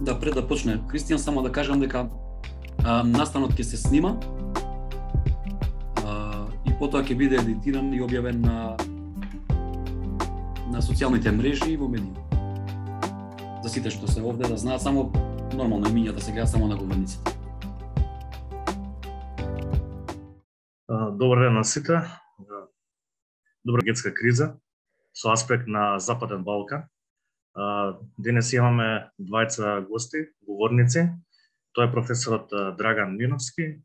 Да, пред да почне Кристијан, само да кажам дека настанот ќе се снима и потоа ќе биде едитиран и објавен на социјалните мрежи и во медии. За сите што се овде да знаат, само нормално имињата се гледаат само на говорниците. Добар ден на сите. Добра енергетска криза со аспект на Западен Балкан. Денес имаме двајца гости, говорници. Тоа е професорот Драган Миновски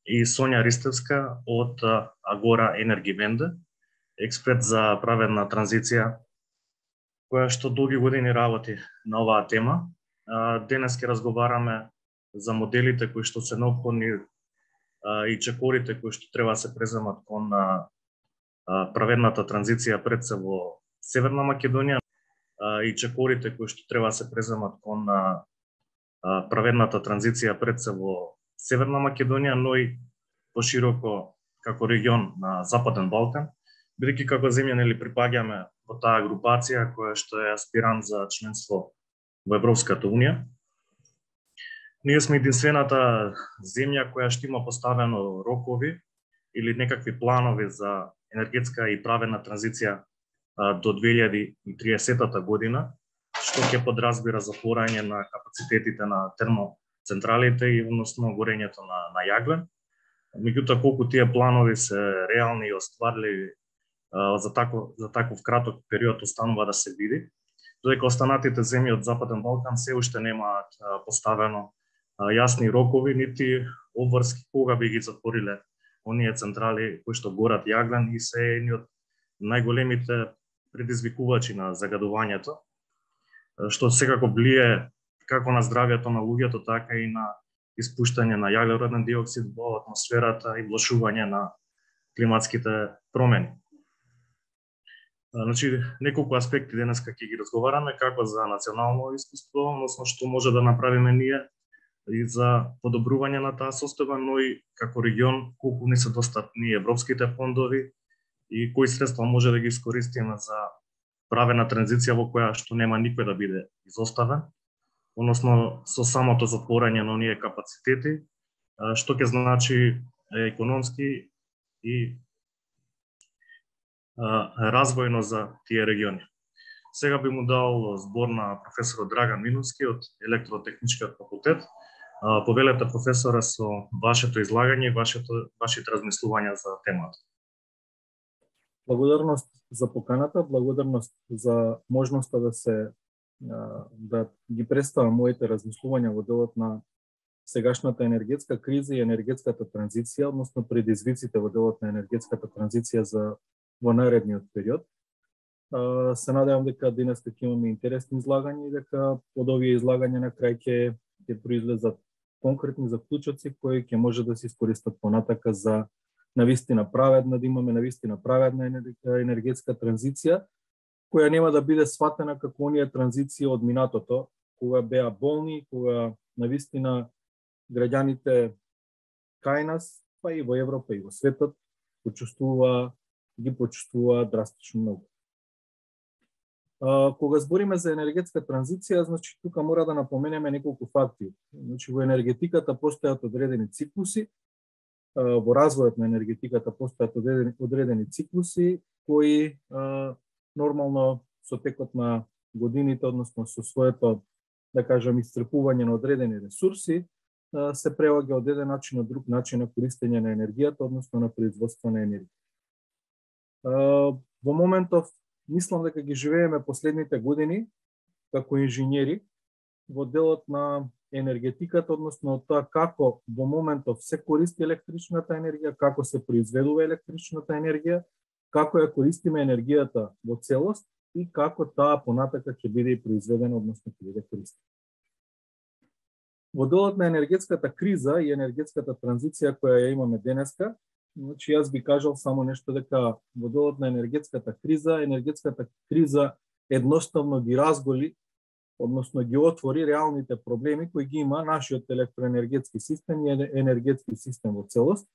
и Сонја Ристевска од Агора Енерги Венде, експерт за праведна транзиција, која што долги години работи на оваа тема. Денес ќе разговараме за моделите кои што се неопходни и чекорите кои што треба да се преземат кон праведната транзиција пред се во Северна Македонија и чекорите кои што треба да се преземат кон праведната транзиција пред се во Северна Македонија, но и пошироко како регион на Западен Балкан, бидејќи како земја припаѓаме во таа групација која што е аспирант за членство во Европската Унија. Ние сме единствената земја која што има поставено рокови или некакви планови за енергетска и праведна транзиција до 2030 година, што ќе подразбира затворање на капацитетите на термоцентралите и односно горењето на јаглен. Меѓутоа, колку тие планови се реални и остварливи за таков краток период останува да се види, додека останатите земји од Западен Балкан се уште немаат поставено јасни рокови, нити обврски кога би ги затвориле оние централи кои што горат јаглен и се едни од најголемите предизвикувачи на загадувањето, што секако влие како на здравјето на луѓето, така и на испуштање на јаглероден диоксид во атмосферата и влошување на климатските промени. Значи, неколку аспекти денеска ќе ги разговараме, како за национално искуство, односно што може да направиме ние и за подобрување на таа состојба, но и како регион колку не се достапни европските фондови и кои средства може да ги искористиме за правена транзиција во која што нема никој да биде изоставен, односно со самото затворање на оние капацитети, што ќе значи економски и развојно за тие региони. Сега би му дал збор на професорот Драган Миновски од Електротехничкиот факултет. Повелете, професора, со вашето излагање и вашите размислувања за темата. Благодарност за поканата, благодарност за можноста да ги представам моите размислувања во делот на сегашната енергетска криза и енергетската транзиција, односно предизвиците во делот на енергетската транзиција во наредниот период. Се надевам дека денес ќе имаме интересни излагања и дека од овие излагања на крај ќе произлезат конкретни заклучоци кои ќе може да се искористат понатака за навистина праведна, да имаме навистина праведна енергетска транзиција, која нема да биде сватена како оние транзиција од минатото, кога беа болни, кога навистина граѓаните кај нас, па и во Европа и во светот, ги почувствува драстично многу. Кога збориме за енергетска транзиција, значи тука мора да напоменеме неколку факти. Значи во енергетиката постојат одредени циклуси, во развојот на енергетиката постојат одредени циклуси кои нормално со текот на годините, односно со своето, да кажам, исцрпување на одредени ресурси, се преваѓа од еден начин на друг начин на користење на енергијата, односно на производство на енергија. Во моментов мислам дека ги живееме последните години како инженери во делот на енергетиката, односно тоа како во моментов се користи електричната енергија, како се произведува електричната енергија, како ја користиме енергијата во целост и како таа понатака ќе биде произведена, односно ќе биде користена. Во делот на енергетската криза и енергетската транзиција која ја имаме денеска, значи јас би кажал само нешто дека во делот на енергетската криза едноставно ги разголи, односно ги отвори реалните проблеми кои ги има нашиот електроенергетски систем и енергетски систем во целост,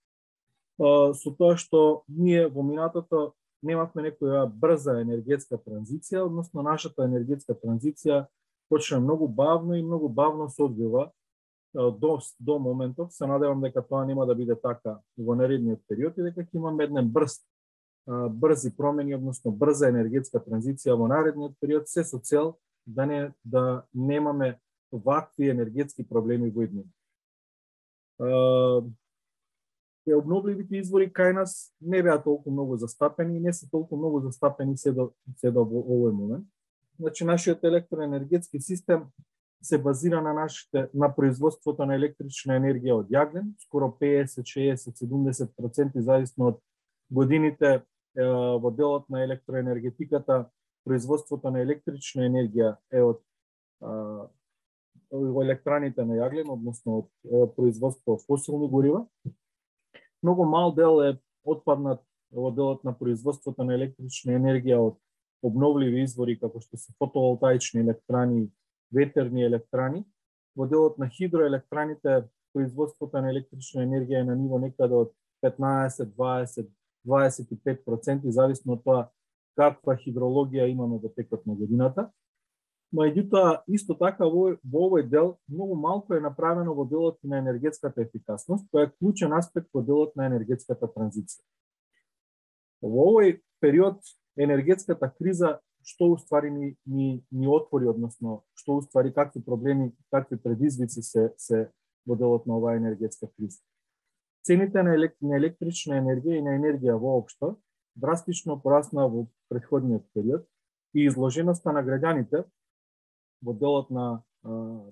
со тоа што ние во минатото немавме некоја брза енергетска транзиција, односно нашата енергетска транзиција почна многу бавно и многу бавно се одвива до моментов. Се надевам дека тоа нема да биде така во наредниот период и дека ќе имаме еден брзи промени, односно брза енергетска транзиција во наредниот период, се со цел да немаме вакви енергетски проблеми во иднина. Обновливите извори кај нас не беа толку многу застапени и не се толку многу застапени се до во овој момент. Значи, нашиот електроенергетски систем се базира на производството на електрична енергија од јаглен, скоро 50, 60, 70% зависно од годините во делот на електроенергетиката. Производството на електрична енергија е од електраните на јаглен, односно од производство од фосилни горива. Многу мал дел е отпаднат во делот на производството на електрична енергија од обновливи извори, како што се фотоволтаични електрани, ветерни електрани. Во делот на хидроелектраните, производството на електрична енергија е на ниво некаде од 15, 20, 25%, зависно од тоа каква хидрологија имаме во текот на годината. Меѓутоа, исто така во овој дел многу малку е направено во делот на енергетската ефикасност, која е клучен аспект во делот на енергетската транзиција. Во овој период енергетската криза што уствари ни отвори, односно што уствари какви проблеми, какви предизвици се во делот на оваа енергетска криза. Цените на електрична енергија и на енергија воопшто драстично порасна во претходниот период и изложеноста на граѓаните во делот на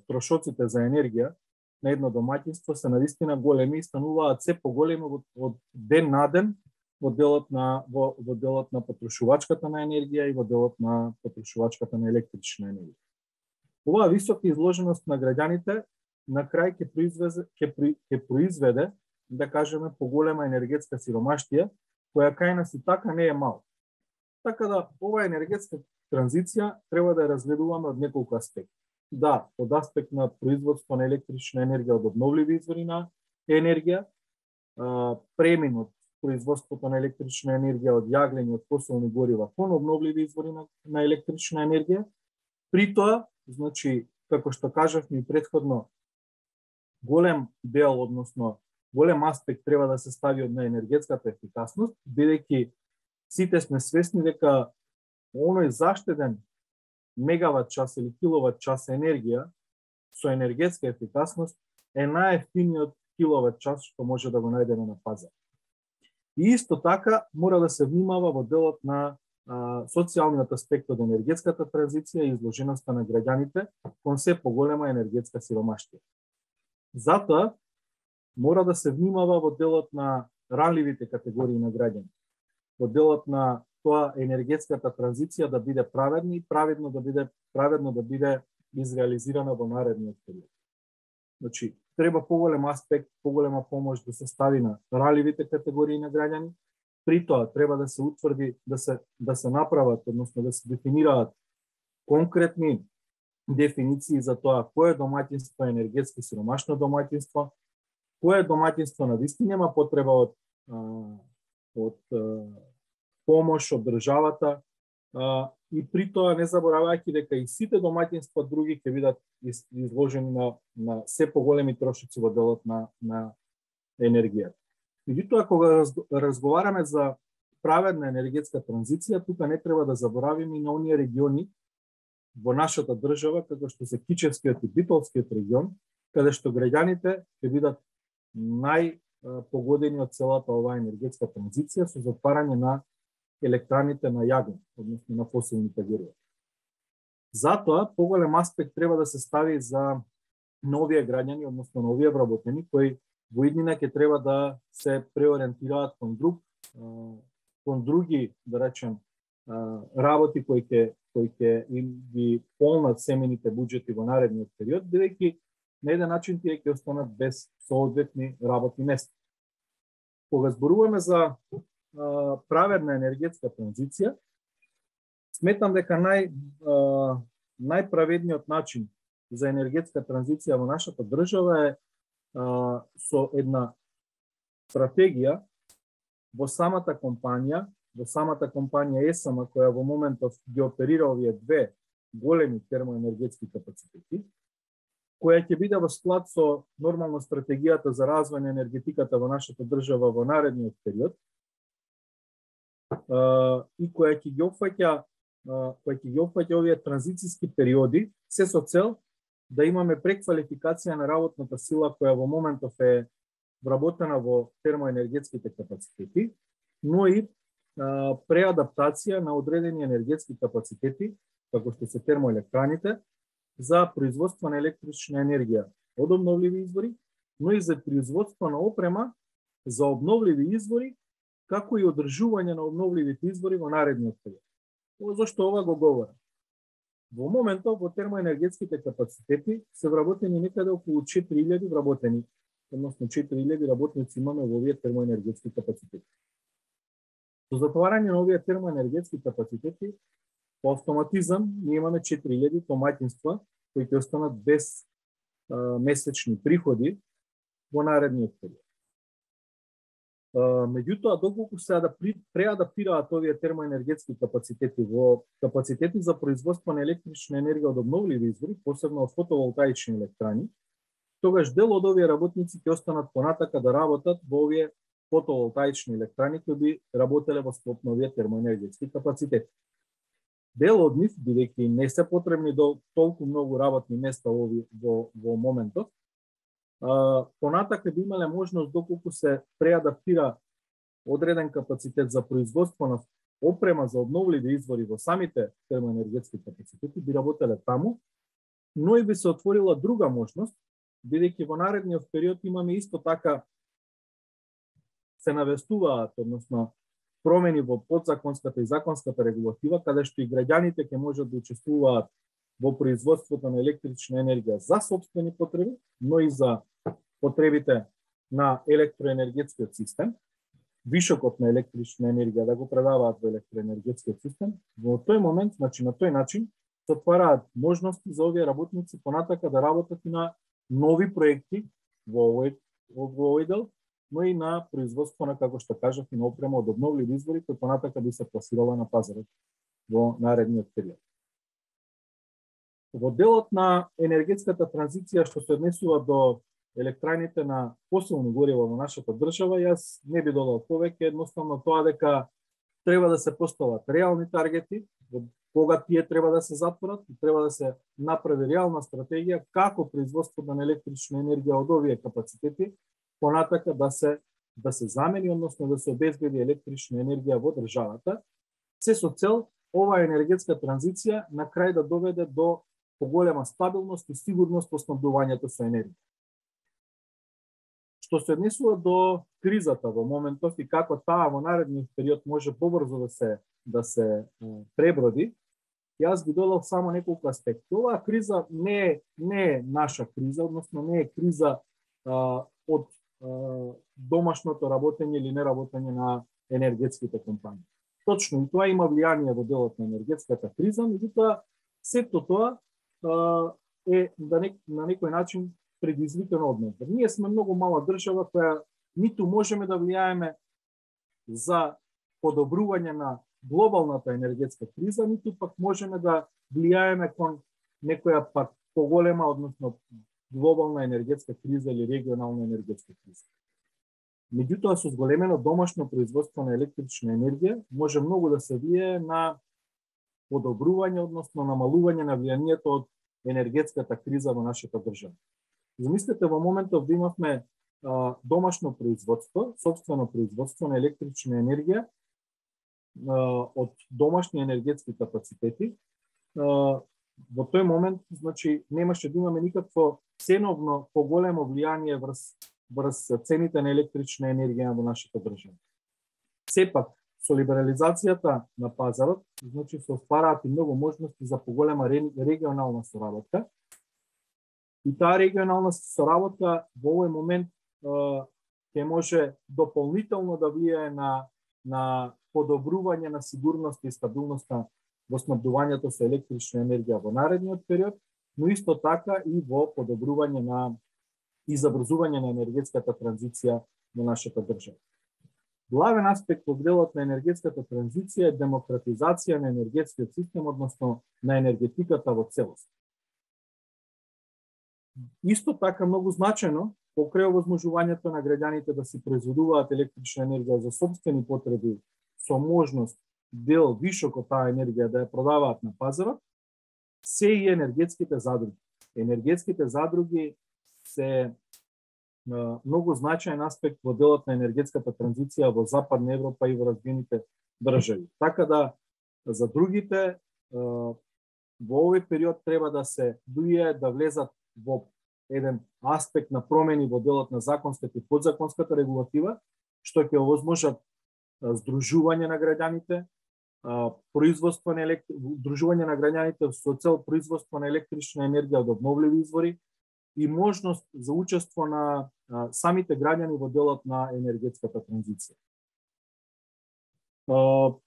трошоците за енергија на едно домаќинство се навистина големи и стануваат се поголеми од ден на ден во делот на потрошувачката на енергија и во делот на потрошувачката на електрична енергија. Оваа висока изложеност на граѓаните на крај ќе произведе, да кажеме, поголема енергетска сиромаштија, која кај нас и така не е мал. Така да, оваа енергетска транзиција треба да ја разгледуваме од неколку аспекти. Да, од аспект на производство на електрична енергија од обновливи извори на енергија, премин од производството на електрична енергија од јаглен и од фосилни горива кон обновливи извори на електрична енергија. При тоа, значи, како што кажавме и претходно, голем дел, односно голем аспект треба да се стави на енергетската ефикасност, бидејќи сите сме свесни дека оној заштеден мегават час или киловат час енергија со енергетска ефикасност е најефтиниот киловат час што може да го најдеме на пазар. И исто така мора да се внимава во делот на социјалниот аспект од енергетската транзиција и изложеноста на граѓаните кон се поголема енергетска сиромаштија. Затоа мора да се внимава во делот на ранливите категории на граѓани, во делот на тоа енергетската транзиција да биде праведна и праведно да биде изреализирана во наредниот период. Значи, треба поголем аспект, поголема помош да се стави на ранливите категории на граѓани. При тоа треба да се утврди, да се направат, односно да се дефинираат конкретни дефиниции за тоа кое домаќинство е енергетски сиромашно домаќинство, кое домаќинство навистина нема потреба од помош од државата, и при тоа не заборавајќи дека и сите домаќинства други ќе бидат изложени на се поголеми трошоци во делот на енергија. Меѓутоа, кога разговараме за праведна енергетска транзиција, тука не треба да заборавиме и на оние региони во нашата држава, како што се Кичевскиот и Битолскиот регион, каде што граѓаните ќе бидат најпогодени од целата оваа енергетска транзиција со затварање на електраните на јаглен, односно на фосилните горива. Затоа, поголем аспект треба да се стави за новија граѓани, односно новија вработени, кои во иднина ќе треба да се преориентираат кон други, да речем, работи кои ќе им ги полнат семените буџети во наредниот период, бидејќи на еден начин тие ќе останат без соодветни работни места. Кога зборуваме за праведна енергетска транзиција, сметам дека најправедниот начин за енергетска транзиција во нашата држава е со една стратегија во самата компанија ЕСАМА, која во моментов ги оперира овие две големи термоенергетски капацитети, која ќе биде во склад со нормално стратегијата за развој на енергетиката во нашата држава во наредниот период, и која ќе ги опфаќа овие транзициски периоди, се со цел да имаме преквалификација на работната сила која во моментов е вработена во термоенергетските капацитети, но и преадаптација на одредени енергетски капацитети, како што се термоелектраните, за производство на електрична енергија од обновливи извори, но и за производство на опрема за обновливи извори, како и одржување на обновливите извори во наредниот период. Зошто ова го говорам? Во моментот во термоенергетските капацитети се вработени некаде околу 4000 вработени, односно 4000 работници имаме во овие термоенергетски капацитети. Со затварање на овие термоенергетски капацитети, по автоматизам ние имаме 4000 домаќинства кои ќе останат без месечни приходи во наредниот период. Меѓутоа, доколку се преадаптираат овие термоенергетски капацитети во капацитети за производство на електрична енергија од обновливи извори, посебно од фотоволтаични електрани, тогаш дел од овие работници ќе останат понатака да работат во овие фотоволтаични електрани кои би работеле во склоп на овие термоенергетски капацитети. Дел од нив, бидејќи не се потребни толку многу работни места во моментот, понатака би имале можност доколку се преадаптира одреден капацитет за производство на опрема за обновливи извори во самите термоенергетски капацитети, би работеле таму, но и би се отворила друга можност, бидејќи во наредниот период имаме исто така се навестуваат, односно промени во подзаконската и законската регулатива, каде што и граѓаните ќе можат да учествуваат во производството на електрична енергија за сопствени потреби, но и за потребите на електроенергетскиот систем, вишокот на електрична енергија да го предаваат во електроенергетскиот систем. Во тој момент, значи на тој начин, се отвараат можности за овие работници понатака да работат и на нови проекти во овој дел, но и на производство на, како што кажав, и на опрема од обновливи извори, кои понатака би се пласирала на пазарот во наредниот период. Во делот на енергетската транзиција што се однесува до електраните на фосилни горива во нашата држава, јас не би додал повеќе, едноставно тоа дека треба да се постават реални таргети, кога тие треба да се затворат, и треба да се направи реална стратегија како производството на електрична енергија од овие капацитети понатака да се замени, односно да се обезбеди електрична енергија во државата, се со цел оваа енергетска транзиција на крај да доведе до поголема стабилност и сигурност во снабдувањето со енергија. Што се однесува до кризата во моментов и како таа во наредниот период може побрзо да се преброди, јас би додал само неколку аспекти. Оваа криза не е наша криза, односно не е криза од домашното работење или неработење на енергетските компании. Точно и тоа има влијание во делот на енергетската криза, меѓутоа сето тоа е на некој начин предизвикано од нас. Ние сме многу мала држава која ниту можеме да влијаеме за подобрување на глобалната енергетска криза, ниту пак можеме да влијаеме кон некоја пак поголема, односно глобална енергетска криза или регионална енергетска криза. Меѓутоа, со зголемено домашно производство на електрична енергија може многу да се влијае на подобрување, односно намалување на влијанието од енергетската криза во нашата држава. Замислете во моментов да имавме домашно производство, сопствено производство на електрична енергија од домашни енергетски капацитети. Во тој момент, значи, немаше да имаме никакво ценовно поголемо влијание врз цените на електрична енергија во нашата држава. Сепак, со либерализацијата на пазарот, значи се отвараат и многу можности за поголема регионална соработка. И таа регионална соработка во овој момент ќе може дополнително да влијае на подобрување на сигурноста и стабилноста во снабдувањето со електрична енергија во наредниот период, но исто така и во подобрување и забрзување на енергетската транзиција во нашата држава. главен аспект во делот на енергетската транзиција е демократизација на енергетскиот систем, односно на енергетиката во целост. Исто така многу значајно, покрај овозможувањето на граѓаните да си произведуваат електрична енергија за сопствени потреби со можност дел вишок од таа енергија да ја продаваат на пазарот, се и енергетските задруги. Енергетските задруги се многу значаен аспект во делот на енергетската транзиција во Западна Европа и во развиените држави. Така да за другите во овој период треба да се дује да влезат во еден аспект на промени во делот на законската и подзаконската регулатива, што ќе овозможат здружување на граѓаните, производство на здружување на граѓаните со цел производство на електрична енергија од обновливи извори и можност за учество на самите граѓани во делот на енергетската транзиција. Во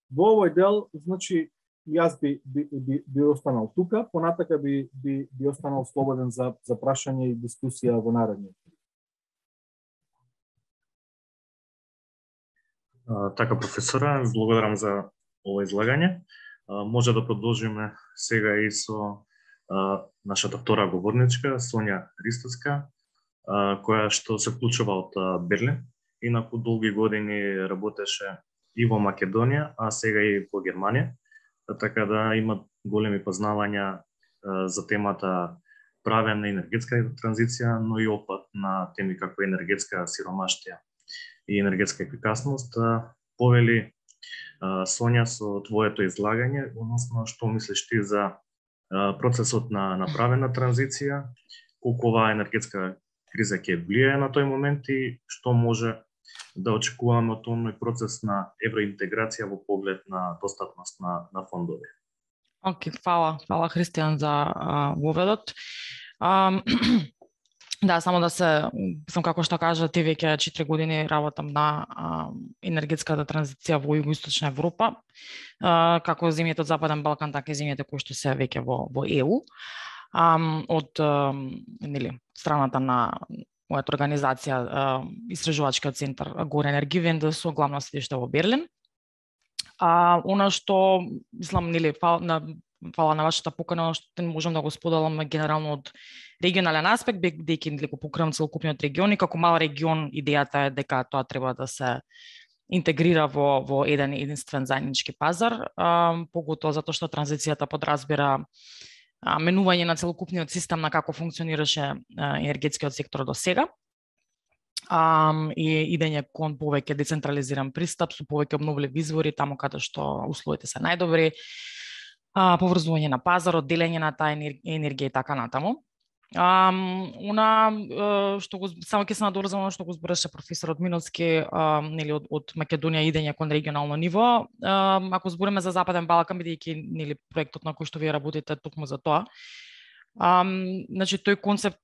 овој дел, значи, јас би останал тука, понатака би останал слободен за прашање и дискусија во наредниот. Така, професора, благодарам за ова излагање. Може да продолжиме сега и со нашата втора говорничка, Сонја Ристовска, која што се вклучува од Берлин. Инаку долги години работеше и во Македонија, а сега и во Германија. Така да има големи познавања за темата правен на енергетска транзиција, но и опат на теми како енергетска сиромаштија и енергетска ефикасност. Повели, Сонја, со твоето излагање, односно што мислиш ти за процесот на правена транзиција, колку оваа енергетска криза ќе влијае на тој момент и што може да очекуваме од тој процес на евроинтеграција во поглед на достапност на фондови. Океј, фала Христијан за воведот. Да, само да сам како што кажа, ти веќе 4 години работам на енергетската транзиција во Југоисточна Европа, како земјите од Западен Балкан, така и земјите кои што се веќе во ЕУ. Од страната на мојата организација, Истражувачкиот центар Гор Енергивен, со главно седиште во Берлин. Она што, мислам, фала на вашата покана, што можам да го споделам генерално од регионален аспект, бидејќи го покривам целокупниот регион и како мал регион идејата е дека тоа треба да се интегрира во еден единствен заеднички пазар, поготоа затоа што транзицијата подразбира менување на целокупниот систем на како функционираше енергетскиот сектор до сега. И идење кон повеќе децентрализиран пристап со повеќе обновливи извори таму каде што условите се најдобри, поврзување на пазарот, делење на таа енергија и така натаму. Што го само ќе се надорзам што го збореше професорот Миноцки, од Македонија идење кон регионално ниво. Ако збориме за Западен Балкан, бидејќи проектот на кој што вие работите токму за тоа, значи тој концепт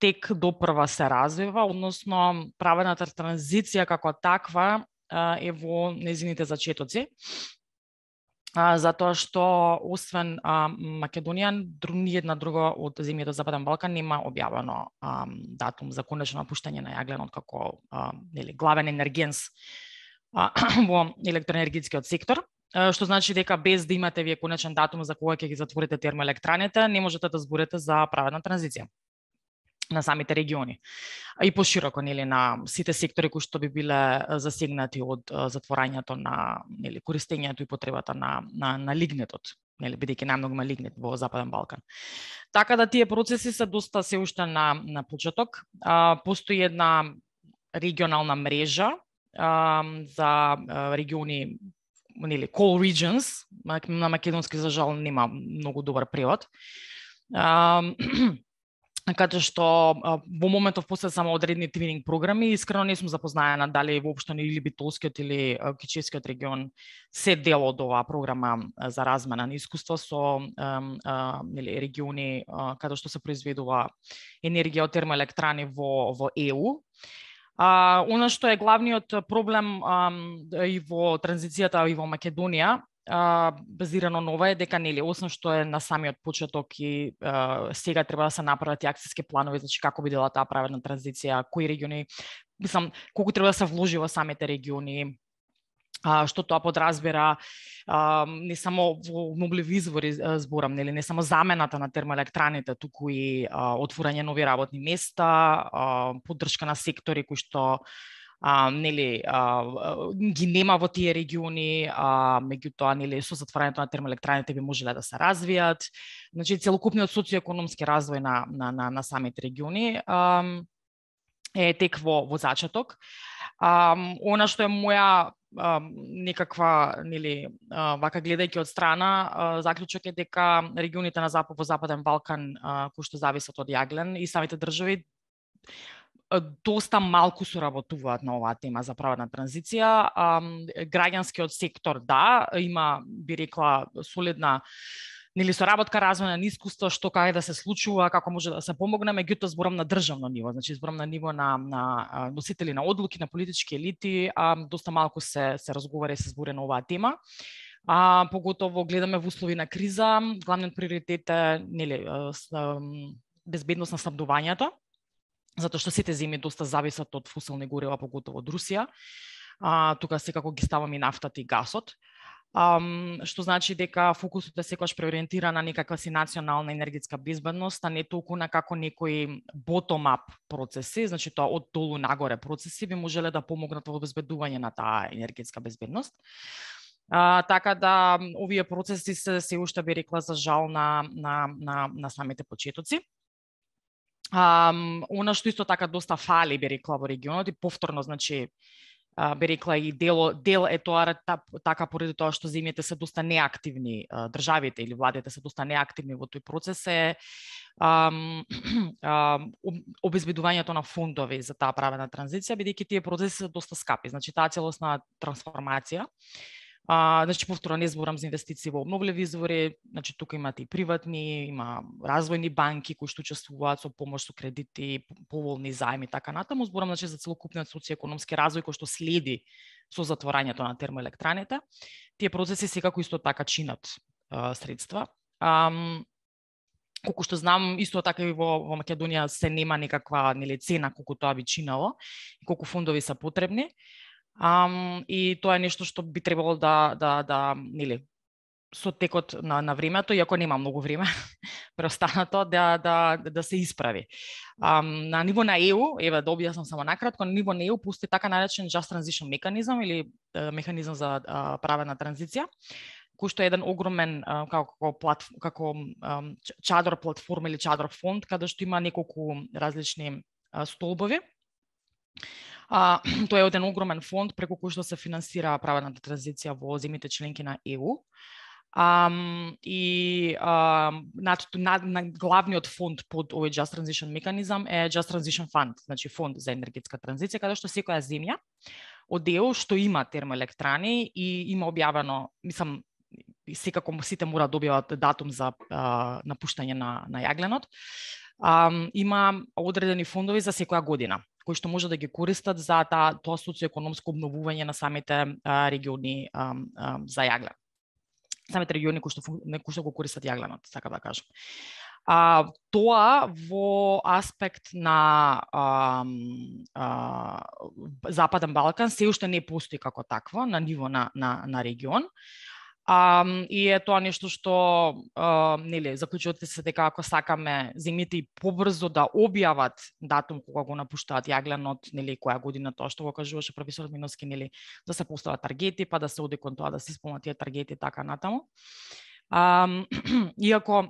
тек допрва се развива, односно правената транзиција како таква е во незините зачетоци. Затоа што освен Македонија, ни една друга од земјите од Западен Балкан нема објавено датум за конечно напуштање на јагленот како главен енергенс во електроенергетскиот сектор, што значи дека без да имате вие конечен датум за кога ќе ги затворите термоелектраните, не можете да зборите за праведна транзиција на самите региони. И пошироко на сите сектори кои што би биле засегнати од затворањето на користењето и потребата на лигнетот, бидејќи најмногу има лигнет во Западен Балкан. Така да тие процеси се доста се уште на почеток. Постои една регионална мрежа за региони, call regions, на македонски за жал нема многу добар превод. Каде што во моментов после само одредни твининг програми, искрено не сум запознаена дали воопшто или Битолскиот или Кичевскиот регион се дел од оваа програма за размена на искуство со региони каде што се произведува енергија од термоелектрани во ЕУ. Она што е главниот проблем и во транзицијата и во Македонија, базирано на ова е дека освен што е на самиот почеток и сега треба да се направат и акциски планови, значи како би дела таа праведна транзиција, кои региони мислам, колку треба да се вложи во самите региони, што тоа подразбира не само во обновливи извори зборам, нели, не само замената на термоелектраните, туку и отворање нови работни места, поддршка на сектори кои што нели ги нема во тие региони, меѓутоа нели со затворањето на термоелектраните би можеле да се развијат. Значи целокупниот социоекономски развој на самите региони е тек во зачаток. Она што е моја некаква, нели, вака гледајќи од страна, заклучок е дека регионите во Западен Балкан кои што зависат од јаглен и самите држави доста малку соработуваат на оваа тема за праведна транзиција. Граѓанскиот сектор, да, има, би рекла, солидна, нели, соработка, развој на искуство, што каде да се случува, како може да се помогне, меѓутоа зборам на државно ниво, значи зборам на ниво на носители на одлуки, на политички елити, доста малку се разговара и се збори на оваа тема. Поготово гледаме во услови на криза, главниот приоритет е, нели, безбедност на снабдувањето, затоа што сите земји доста зависат од фосилни горива, поготово од Русија. Тука секако ги ставам и нафтата и гасот. Што значи дека фокусот е секогаш преориентиран на некаква си национална енергетска безбедност, а не толку на како некои bottom-up процеси, значи тоа од долу нагоре процеси би можеле да помогнат во обезбедување на таа енергетска безбедност. Така да овие процеси се уште, би рекла, за жал на самите почетоци. Она што исто така доста фали, би рекла, во регионот и повторно, значи, би рекла и дел е тоа така поради тоа што земјите се доста неактивни, државите или владите се доста неактивни во тој процес, е обезбедувањето на фондови за таа правена транзиција, бидејќи тие процеси се доста скапи. Значи таа целосна трансформација, значи повторно не зборам за инвестиции во обновливи извори, значи тука имате и приватни, има развојни банки кои што учествуваат со помош со кредити, поволни заеми, така натаму. Зборам, значи, за целокупниот социоекономски развој кој што следи со затворањето на термоелектраните. Тие процеси секако исто така чинат средства. Колку што знам, исто така и во Македонија се нема некаква, нели, цена колку тоа би чинало и колку фондови се потребни. И тоа е нешто што би требало да нели, со текот на времето, иако нема многу време преостанато, да се исправи. На ниво на ЕУ, еве да објаснам само накратко, на ниво на ЕУ постои така наречен Just Transition механизам или механизам за правена транзиција, кој што е еден огромен како чадор платформа или чадор фонд, каде што има неколку различни столбови. Тоа е еден огромен фонд преку кој што се финансира праведната транзиција во земјите членки на ЕУ. И на главниот фонд под овој Just Transition механизам е Just Transition Fund, значи фонд за енергетска транзиција, каде што секоја земја од ЕУ што има термоелектрани и има објавено, мислам, секако сите мора да објават датум за напуштање на јагленот, има одредени фондови за секоја година, кои што може да ги користат за тоа социоекономско обновување на самите региони за јаглен. Самите региони кои што го користат јагленот, така да кажам. Тоа во аспект на Западен Балкан се уште не постои како такво на ниво на регион. И е тоа нешто што нели заклучувате се дека ако сакаме земјите и побрзо да објават датум кога го напуштаат јагленот, нели која година, тоа што го кажуваше професорот Миновски, нели да се постават таргети, па да се оди кон тоа да се исполнат тие таргети така натаму. Иако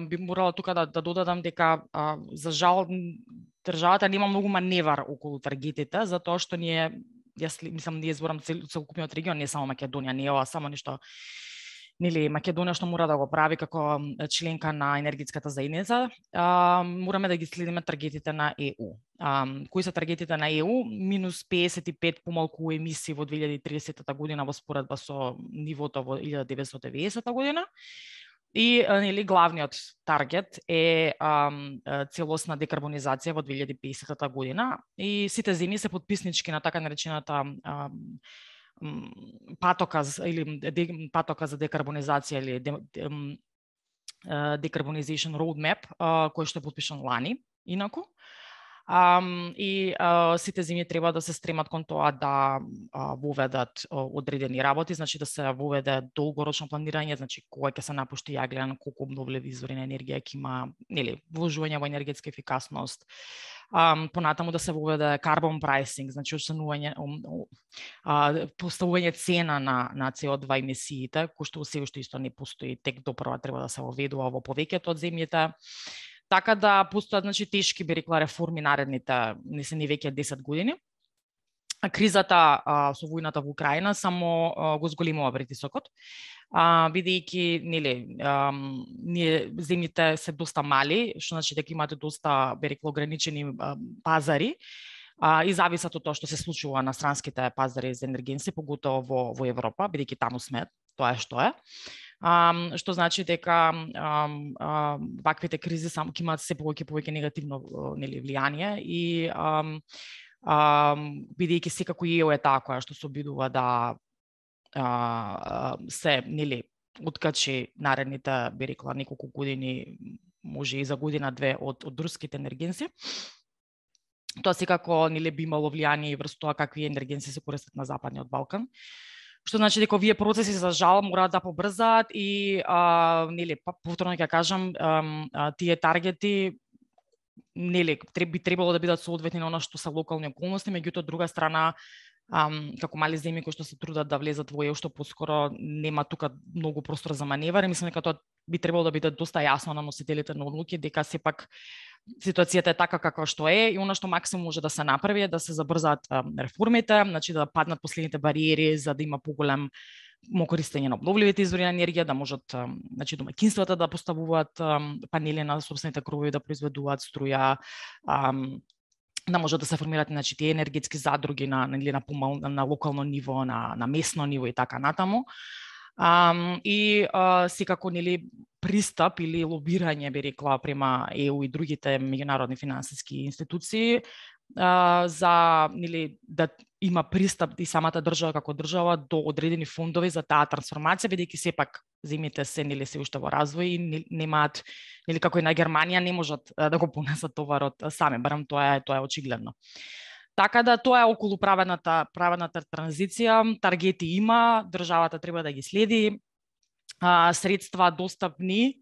би морала тука да додадам дека за жал државата нема многу маневар околу таргетите, затоа што ние зборам целокупниот регион, не само Македонија, не е ова само нешто, нели Македонија што мора да го прави како членка на енергетската заедница, мораме да ги следиме таргетите на ЕУ. Кои се таргетите на ЕУ? Минус 55 помалку емисии во 2030 година во споредба со нивото во 1990 година. И нели главниот таргет е целосна декарбонизација во 2050 година и сите земји се потписнички на така наречената патока за декарбонизација или Decarbonization Roadmap, кој што е потпишан лани, инаку. И сите земји треба да се стремат кон тоа да воведат одредени работи, значи да се воведе долгорочно планирање, значи кога ќе се напушти јаглен, колку обновливи извори на енергија ќе има, нели, вложување во енергетска ефикасност. Понатаму да се воведе carbon pricing, значи поставување цена на CO2 емисиите, кој што се уште исто не постои, тек допрва треба да се воведува во повеќето од земјите. Така да постојат, значи, тешки, би рекла, реформи наредните, не се ни веќе 10 години. Кризата со војната во Украина само го зголемува притисокот, бидејќи, нели, ние земјите се доста мали, што значи дека имате доста, би рекла, ограничени пазари, и зависат од тоа што се случува на странските пазари за енергенци, поготово во Европа, бидејќи таму сме, тоа е што е. Што значи дека ваквите кризи само ќе имаат се повеќе негативно, нели, влијание и бидејќи секако ЕУ е таа која што се обидува да се, нели, откачи наредните, би рекла, неколку години, може и за година-две од руските енергенци. Тоа секако, нели, би имало влијание и врз тоа какви енергенци се користат на Западниот Балкан. Што значи дека овие процеси за жал мораат да побрзаат и нели, повторно ќе кажам, тие таргети, нели, би требало да бидат соодветни на она што се локални околности, меѓутоа од друга страна, како мали земји кои што се трудат да влезат во ЕУ, што поскоро нема тука многу простор за маневар, и мислам дека тоа би требало да биде доста јасно на носителите на одлуки, дека сепак ситуацијата е така како што е и она што максимум може да се направи е да се забрзаат реформите, значи да паднат последните бариери за да има поголем користење на обновливите извори на енергија, да можат, значи, домаќинствата да поставуваат панели на сопствените кровови, да произведуваат струја, да можат да се формираат, значи, тие енергетски задруги на локално ниво, на местно ниво и така натаму. И секако, нели, пристап или лобирање, би рекла, према ЕУ и другите меѓународни финансиски институции за, нели, да има пристап и самата држава како држава до одредени фондови за таа трансформација, бидејќи сепак земјите се, нели, се уште во развој и немаат, нели, како и на Германија, не можат да го понесат товарот сами, барем тоа е очигледно. Така да тоа е околу правената транзиција, таргети има, државата треба да ги следи, средства достапни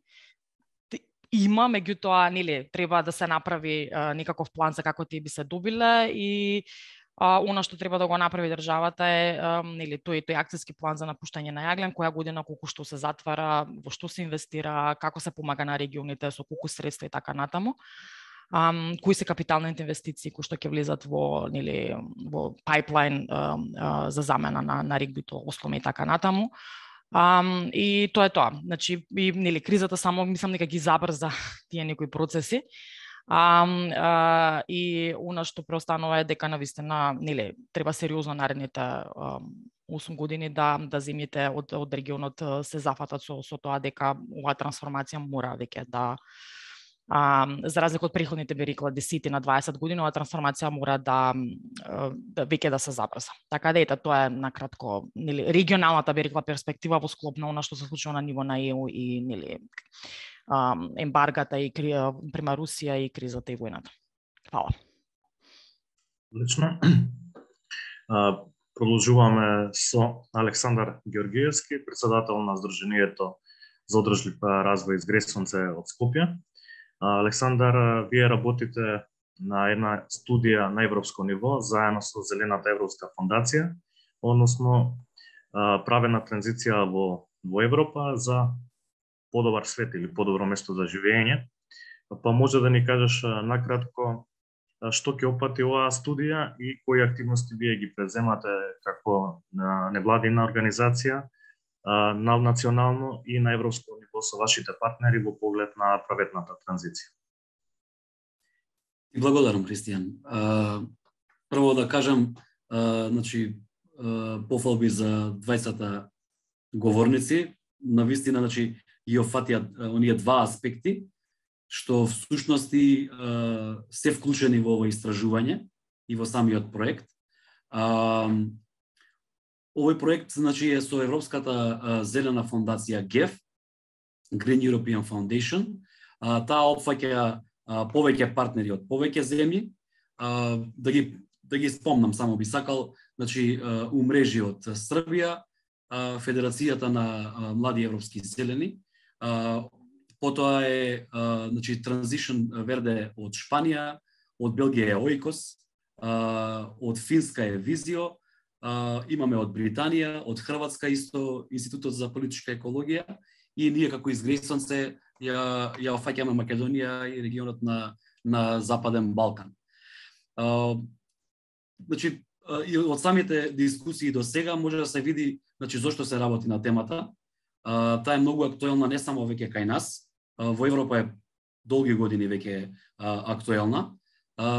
има, меѓутоа, нели, треба да се направи некаков план за како тие би се добиле и она што треба да го направи државата е, нели, тој акцијски план за напуштање на јаглен, која година колку што се затвара, во што се инвестира, како се помага на регионите со колку средства и така натаму. Кои се капиталните инвестиции кои што ќе влезат во, нели, во пайплайн за замена на регбито, осломе и така натаму. И тоа е тоа. Значи, и, нели, кризата само, мислам дека ги забрза тие некои процеси. И она што преостанува е дека навистина, нели, треба сериозно наредните 8 години да земјите од регионот се зафатат со тоа дека оваа трансформација мора веќе да за разлика од претходните, би рекла, 10 на 20 години, оваа трансформација мора да веќе да се забрза. Така да, ето, тоа е накратко, нели, регионалната, би рекла, перспектива во склоп на она што се случува на ниво на ЕУ и, нели, ембаргата и према Русија и кризата и војната. Фала. Лично. Продолжуваме со Александар Георгиевски, председател на Сдруженијето за одржлив развој Изгресонце од Скопје. Александар, вие работите на една студија на европско ниво заедно со Зелената Европска фондација, односно правена транзиција во Европа за подобар свет или подобро место за живење. Па може да ни кажеш накратко што ќе опати оваа студија и кои активности вие ги преземате како невладина организација на национално и на европско ниво со вашите партнери во поглед на праветната транзиција. Благодарам, Христијан. Прво да кажам, значи, пофалби за двајцата говорници, навистина, значи, ги офатија оние два аспекти, што всушности се вклучени во овој истражување и во самиот проект. Овој проект, значи, е со Европската зелена фондација GEF, Green European Foundation. Таа опфаќа повеќе партнери од повеќе земји, да ги спомнам, само би сакал, значи умрежи од Србија, Федерацијата на млади европски зелени, потоа е значи Transition Verde од Шпанија, од Белгија е Oikos, од Финска е Визио, имаме од Британија, од Хрватска исто Институтот за политичка екологија, и ние како изгресен се ја офаќаме Македонија и регионот на Западен Балкан. Значи, и од самите дискусии до сега може да се види, значи, зошто се работи на темата. Таа е многу актуелна не само веќе кај нас, во Европа е долги години веќе актуелна,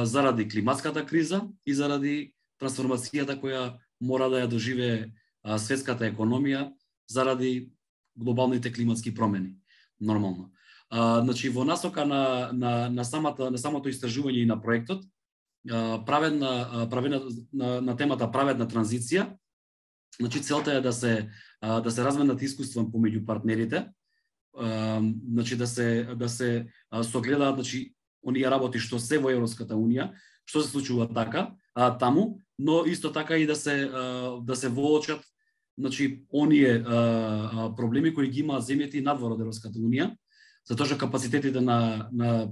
заради климатската криза и заради трансформацијата која мора да ја доживее светската економија заради глобалните климатски промени. Нормално. Значи, во насока на самото истражување и на проектот, на темата праведна транзиција, значи целта е да се разменат искуства помеѓу партнерите, значи да се согледаат, значи оние работи што се во Европската унија, што се случува така таму, но исто така и да се воочат, значи оние проблеми кои ги имаат земјите надвор од Европската унија, затоа што капацитетите на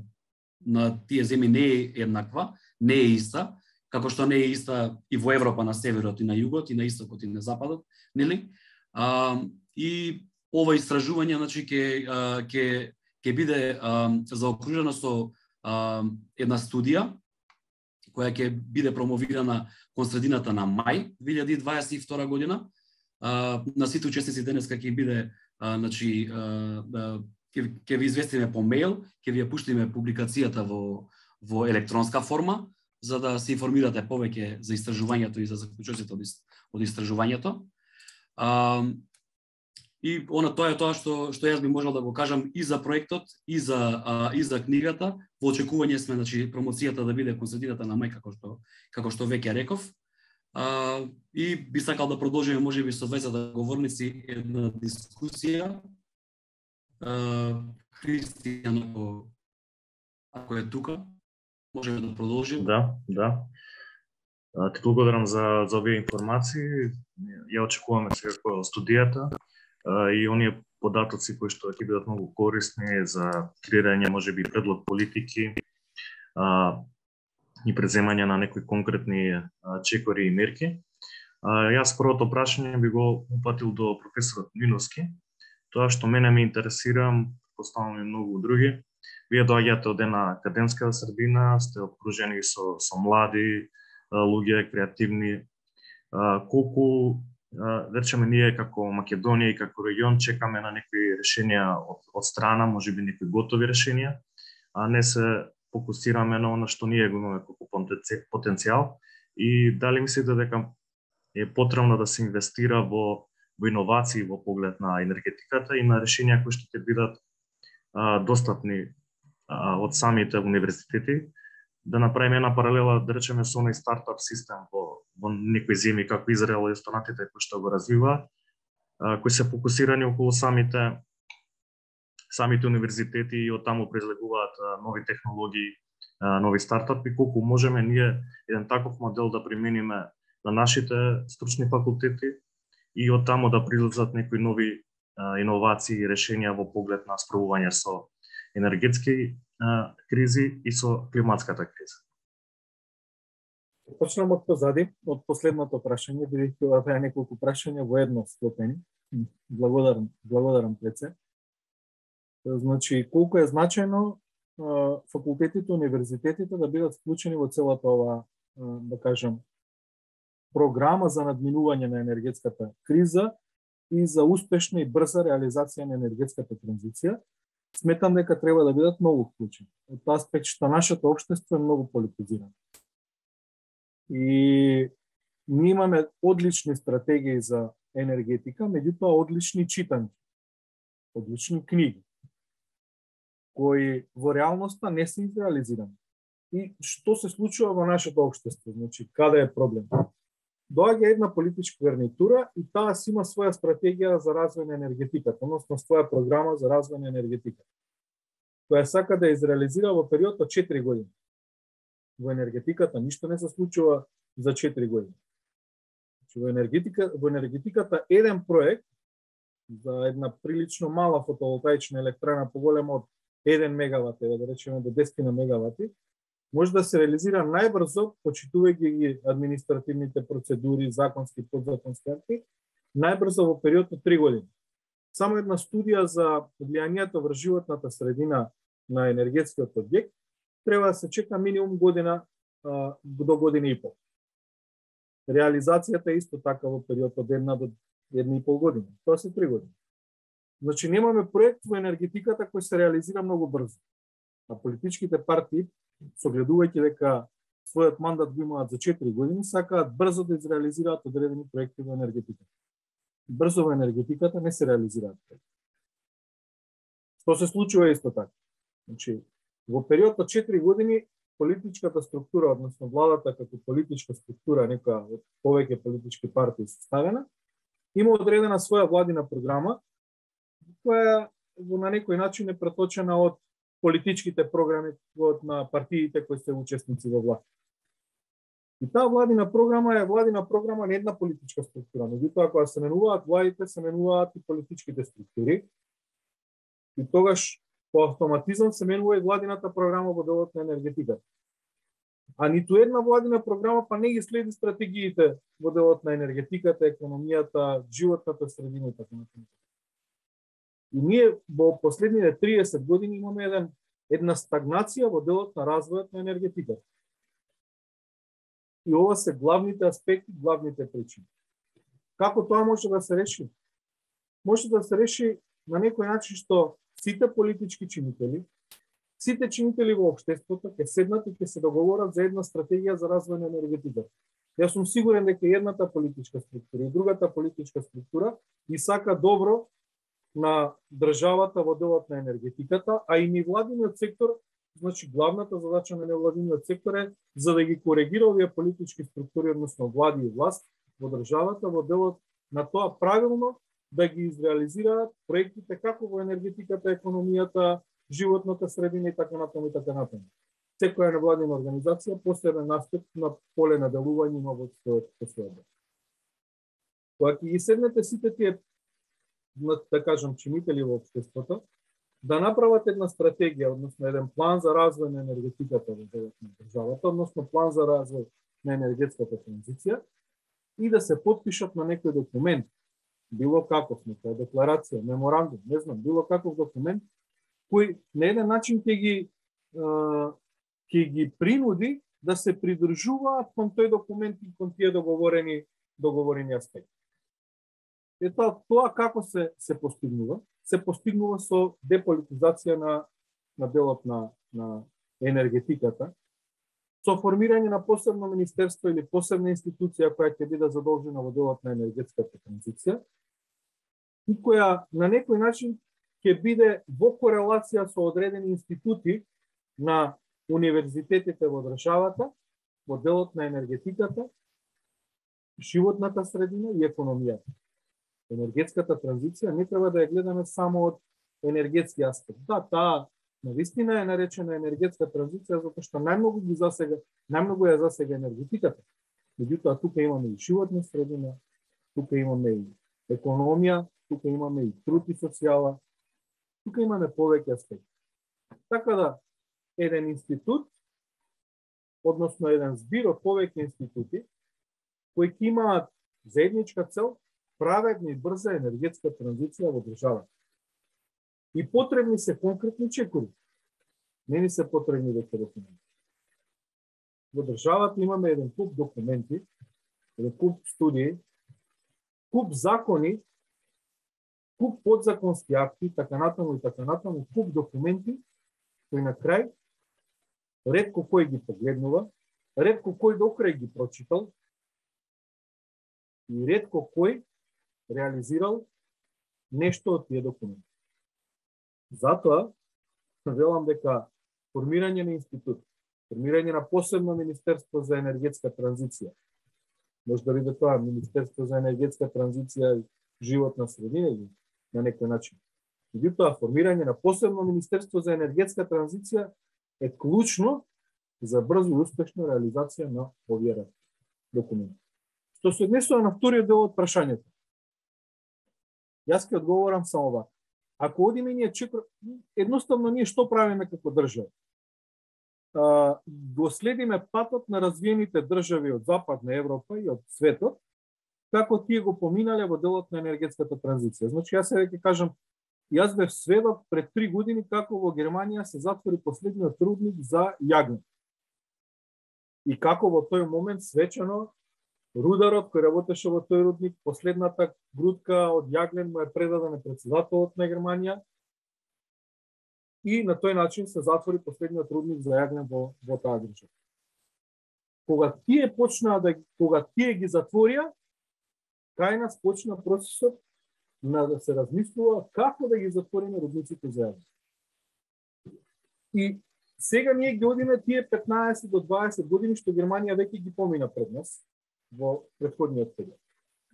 тие земји не е еднаква, не е иста, како што не е иста и во Европа на северот и на југот, и на истокот и на западот, нели? И ова истражување, значи, ќе биде заокружено со една студија која ќе биде промовирана кон средината на мај 2022 година. На сите учесници денеска ќе биде, значи, ќе ви известиме по мејл, ќе ви ја пуштиме публикацијата во електронска форма, за да се информирате повеќе за истражувањето и за заклучоците од истражувањето. И тоа е тоа што јас би можел да го кажам и за проектот, и за книгата. Во очекување сме, значи, промоцијата да биде кон средината на мај, како што веќе реков. И би сакал да продолжиме можеби со 20 говорници една дискусија. Христијан, ако е тука, можеме да продолжиме. Да. Ти благодарам за овие информации. Ја очекуваме сега кој студијата и оние податоци кои што ќе бидат многу корисни за креирање можеби предлог политики и преземање на некои конкретни чекори и мерки. Јас првото прашање би го упатил до професорот Миновски. Тоа што мене ме интересира, поставам и многу други. Вие доаѓате од една академска средина, сте окружени со млади луѓе, креативни. Колку, речеме, ние како Македонија и како регион чекаме на некои решенија од страна, можеби некои готови решенија, а не се фокусираме на она што ние го имаме како потенцијал, и дали мислите дека е потребно да се инвестира во иновации во поглед на енергетиката и на решенија кои што ќе бидат достапни од самите универзитети, да направиме една паралела, да речеме, со оној стартап систем во некои земји како Израел и останатите кои што го развиваат, кои се фокусирани околу самите универзитети и од таму произлегуваат нови технологии, нови стартапи. Колку можеме ние еден таков модел да примениме на нашите стручни факултети и од таму да произлезат некои нови иновации и решенија во поглед на справување со енергетски кризи и со климатската криза. Почнам од позади, од последното прашање, бидејќи ова беа неколку прашања во едно склопени. Благодарам Пеце. Значи, колку е значајно факултетите, универзитетите да бидат вклучени во целата ова, да кажам, програма за надминување на енергетската криза и за успешна и брза реализација на енергетската транзиција. Сметам дека треба да бидат многу вклучени. Од тоа аспект што нашето општество е многу политизирано. И ние имаме одлични стратегии за енергетика, меѓутоа одлични читања, одлични книги, кои во реалноста не се изреализирани. И што се случува во нашето општество? Значи, каде е проблем? Доаѓа една политичка гарнитура и таа си има своја стратегија за развој на енергетиката, односно своја програма за развој на енергетиката, која сака да изреализира во период од 4 години. во енергетиката ништо не се случува за 4 години. Во енергетиката еден проект за една прилично мала фотоволтаична електрана поголема од 1 мегават, да речеме до 10 мегавати, може да се реализира најбрзо, почитувајќи ги административните процедури, законски, подзаконски акти, најбрзо во период од 3 години. Само една студија за влијанието врз животната средина на енергетскиот објект треба да се чека минимум година до година и пол. Реализацијата е исто така во период од 1 до 1,5 година. Тоа се 3 години. Значи немаме проект во енергетиката кој се реализира многу брзо. А политичките партии, согледувајќи дека својот мандат го имаат за 4 години, сакаат брзо да изреализираат одредени проекти во енергетиката. Брзо во енергетиката не се реализираат проекти. Што се случува исто така? Значи, во период од 4 години политичката структура, односно владата како политичка структура, некоја од повеќе политички партии составена, има одредена своја владина програма, која на некој начин е преточена од политичките програми на партиите кои се учесници во власт. И таа владина програма е владина програма на една политичка структура. Меѓутоа, кога се менуваат владите, се менуваат и политичките структури. И тогаш по автоматизам се менува и владината програма во делот на енергетиката. А ниту една владина програма па не ги следи стратегиите во делот на енергетиката, економијата, животната средина и така натаму. И ние во последните 30 години имаме една стагнација во делот на развојот на енергетиката. И ова се главните аспекти, главните причини. Како тоа може да се реши? Може да се реши на некој начин што сите политички чинители, сите чинители во општеството ќе седнат и ќе се договорат за една стратегија за развој на енергетиката. Јас сум сигурен дека едната политичка структура и другата политичка структура и сака добро на државата во делот на енергетиката, а и невладиниот сектор, значи главната задача на невладиниот сектор е за да ги коригира овие политички структури, односно влади и власт во државата во делот на тоа правилно да ги изреализираат проектите како во енергетиката, економијата, животната средина и така натаму и така натаму. Секоја невладина организација посебен аспект на поле на делување на овој својот. Кога ќе ги седнете сите тие, да кажам, чинители во општеството, да направат една стратегија, односно еден план за развој на енергетиката во делот на државата, односно план за развој на енергетската транзиција и да се потпишат на некој документ, било каков, некоја декларација, меморандум, не знам, било каков документ, кој на еден начин ќе ги принуди да се придржуваат кон тој документ и кон тие договорени аспекти. Ето тоа како се постигнува? Се постигнува со деполитизација на делот на енергетиката, со формирање на посебно министерство или посебна институција која ќе биде задолжена во делот на енергетската транзиција и која на некој начин ќе биде во корелација со одредени институти на универзитетите во државата во делот на енергетиката, животната средина и економијата. Енергетската транзиција не треба да ја гледаме само од енергетски аспект. Да, таа навистина е наречена енергетска транзиција затоа што најмногу ја засега енергетиката. Меѓутоа тука имаме и животна средина, тука имаме и економија, тука имаме и труд и социјала, тука имаме повеќе аспекти. Така да еден институт, односно еден збир од повеќе институти кои ќе имаат заедничка цел праведна и брза енергетска транзиција во државата. И потребни се конкретни чекори. Не ни се потребни документи. Во државата имаме еден куп документи, еден куп студии, куп закони, куп подзаконски акти, така натаму, куп документи, кои на крај ретко кој ги погледнува, ретко кој до крај ги прочитал и ретко кој реализирал нешто од тие документи. Затоа, велам дека формирање на институт, формирање на посебно Министерство за енергетска транзиција, може да биде тоа Министерство за енергетска транзиција и животна средина или на некој начин. Меѓутоа, формирање на посебно Министерство за енергетска транзиција е клучно за брзо и успешна реализација на овие документи. Што се однесува на вториот дел од прашањето. Јас ќе одговорам само вака. Ако одиме ние едноставно ние што правиме како држава? Го следиме патот на развиените држави од Западна Европа и од светот, како тие го поминале во делот на енергетската транзиција. Значи, јас сега ќе кажам, јас бев сведок пред 3 години како во Германија се затвори последниот рудник за јагне. И како во тој момент свечено рударот кој работеше во тој рудник, последната грудка од јаглен му е предадена председателот на Германија и на тој начин се затвори последниот рудник за јаглен во таа држава. Кога тие ги затворија, кај нас почна процесот на да се размислува како да ги затвориме рудниците за јаглен. И сега ние ги одиме тие 15 до 20 години што Германија веќе ги помина пред нас во претходниот период.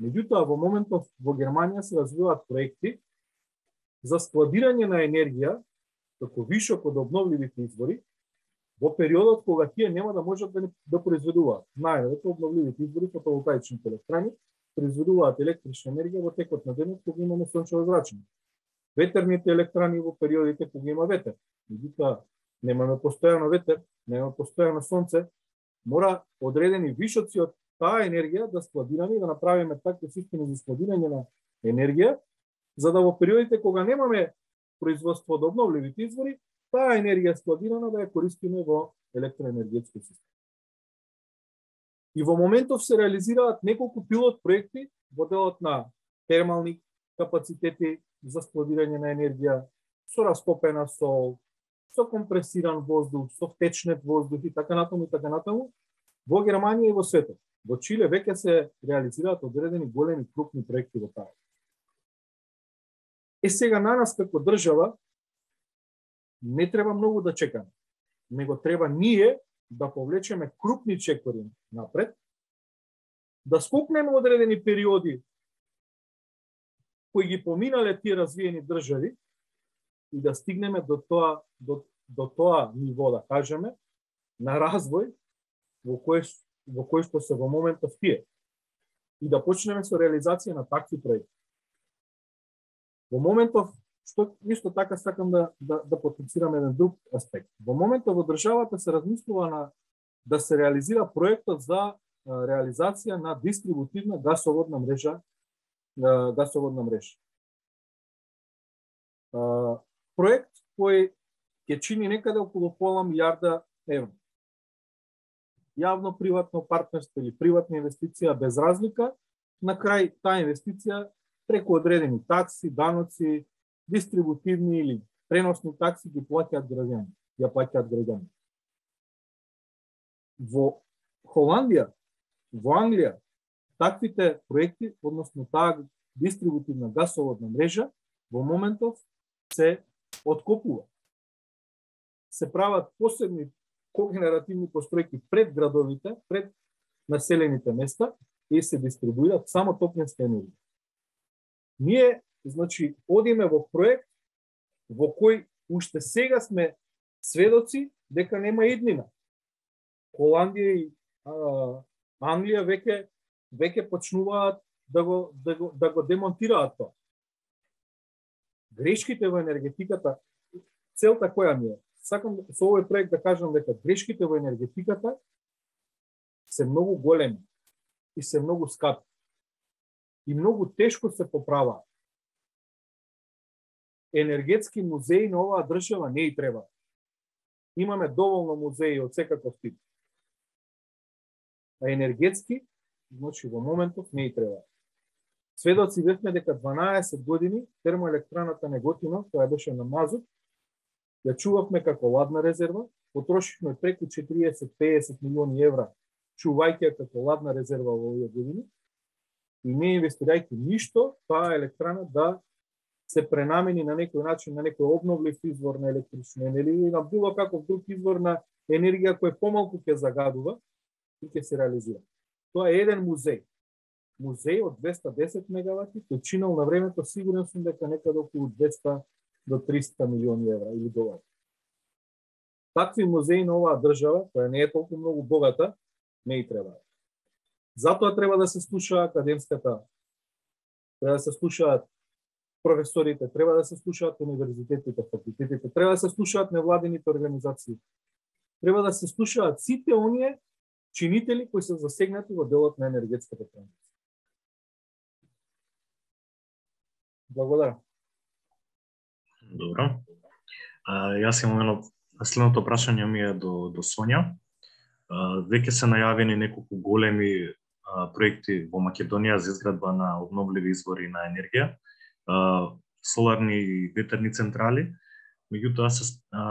Меѓутоа, во моментов во Германија се развиваат проекти за складирање на енергија како вишок од обновливите извори во периодот кога тие нема да можат да произведуваат. Најавето обновливите извори, фотоволтаичните електрани, произведуваат електрична енергија во текот на денот кога имаме сончево зрачење. Ветерните електрани во периодите кога има ветер. Меѓутоа, немаме постојано ветер, немаме постојано сонце, мора одредени вишоци од таа енергија да складираме и да направиме такви системи за складирање на енергија, за да во периодите кога немаме производство од обновливите извори, таа енергија складирана да ја користиме во електроенергетски систем. И во моментов се реализираат неколку пилот проекти во делот на термални капацитети за складирање на енергија, со растопена сол, со компресиран воздух, со втечнет воздух и така натаму, во Германија и во светот. Во Чиле веќе се реализираат одредени големи крупни проекти во таа. Сега на нас како држава не треба многу да чекаме, него треба ние да повлечеме крупни чекори напред, да скокнеме одредени периоди кои ги поминале тие развиени држави и да стигнеме до тоа ниво, да кажеме, на развој во кој што се во моментов тие. И да почнеме со реализација на такви проекти. Во моментов, што исто така сакам да потенцирам еден друг аспект. Во моментов во државата се размислува да се реализира проектот за реализација на дистрибутивна гасоводна мрежа. Проект кој ќе чини некаде околу пола милиарда евра. Јавно-приватно партнерство или приватна инвестиција без разлика, на крај таа инвестиција преку одредени такси, даноци, дистрибутивни или преносни такси ги плаќаат граѓани. Во Холандија, во Англија, таквите проекти, односно таа дистрибутивна гасоводна мрежа, во моментов се откопува. Се прават посебни когенеративни постројки пред градовите, пред населените места и се дистрибуираат само топлинска енергија. Ние, значи, одиме во проект во кој уште сега сме сведоци дека нема иднина. Холандија и Англија веќе почнуваат да го демонтираат тоа. Грешките во енергетиката, целта која ми е? Сакам со овој проект да кажам дека грешките во енергетиката се многу големи и се многу скапи. И многу тешко се поправаат. Енергетски музеи на оваа држава не и треба. Имаме доволно музеи од секаков тип. А енергетски, значи во моментов не и треба. Сведоци бевме дека 12 години термоелектраната Неготино, која беше на мазут, ја чувавме како ладна резерва, потрошивме преку 40-50 милиони евра, чувајќи ја како ладна резерва во овие години, и не инвестирајќи ништо, таа електрана да се пренамени на некој начин, на некој обновлив извор на електрична енергија или на било каков друг извор на енергија кој помалку ќе загадува и ќе се реализира. Тоа е еден музеј. Музеј од 210 мегавати, кој чинал на времето, сигурен сум дека некаде околу 200 до 300 милиони евра или долари. Такви музеи на оваа држава, која не е толку многу богата, не и треба. Затоа треба да се слуша академската, треба да се слушаат професорите, треба да се слушаат универзитетите, факултетите, треба да се слушаат невладините организации. Треба да се слушаат сите оние чинители кои се засегнати во делот на енергетската транзиција. Благодарам. Добро. Јас имам едно следното прашање ми е до Сонја. Веќе се најавени неколку големи проекти во Македонија за изградба на обновливи извори на енергија, соларни и ветерни централи. Меѓутоа се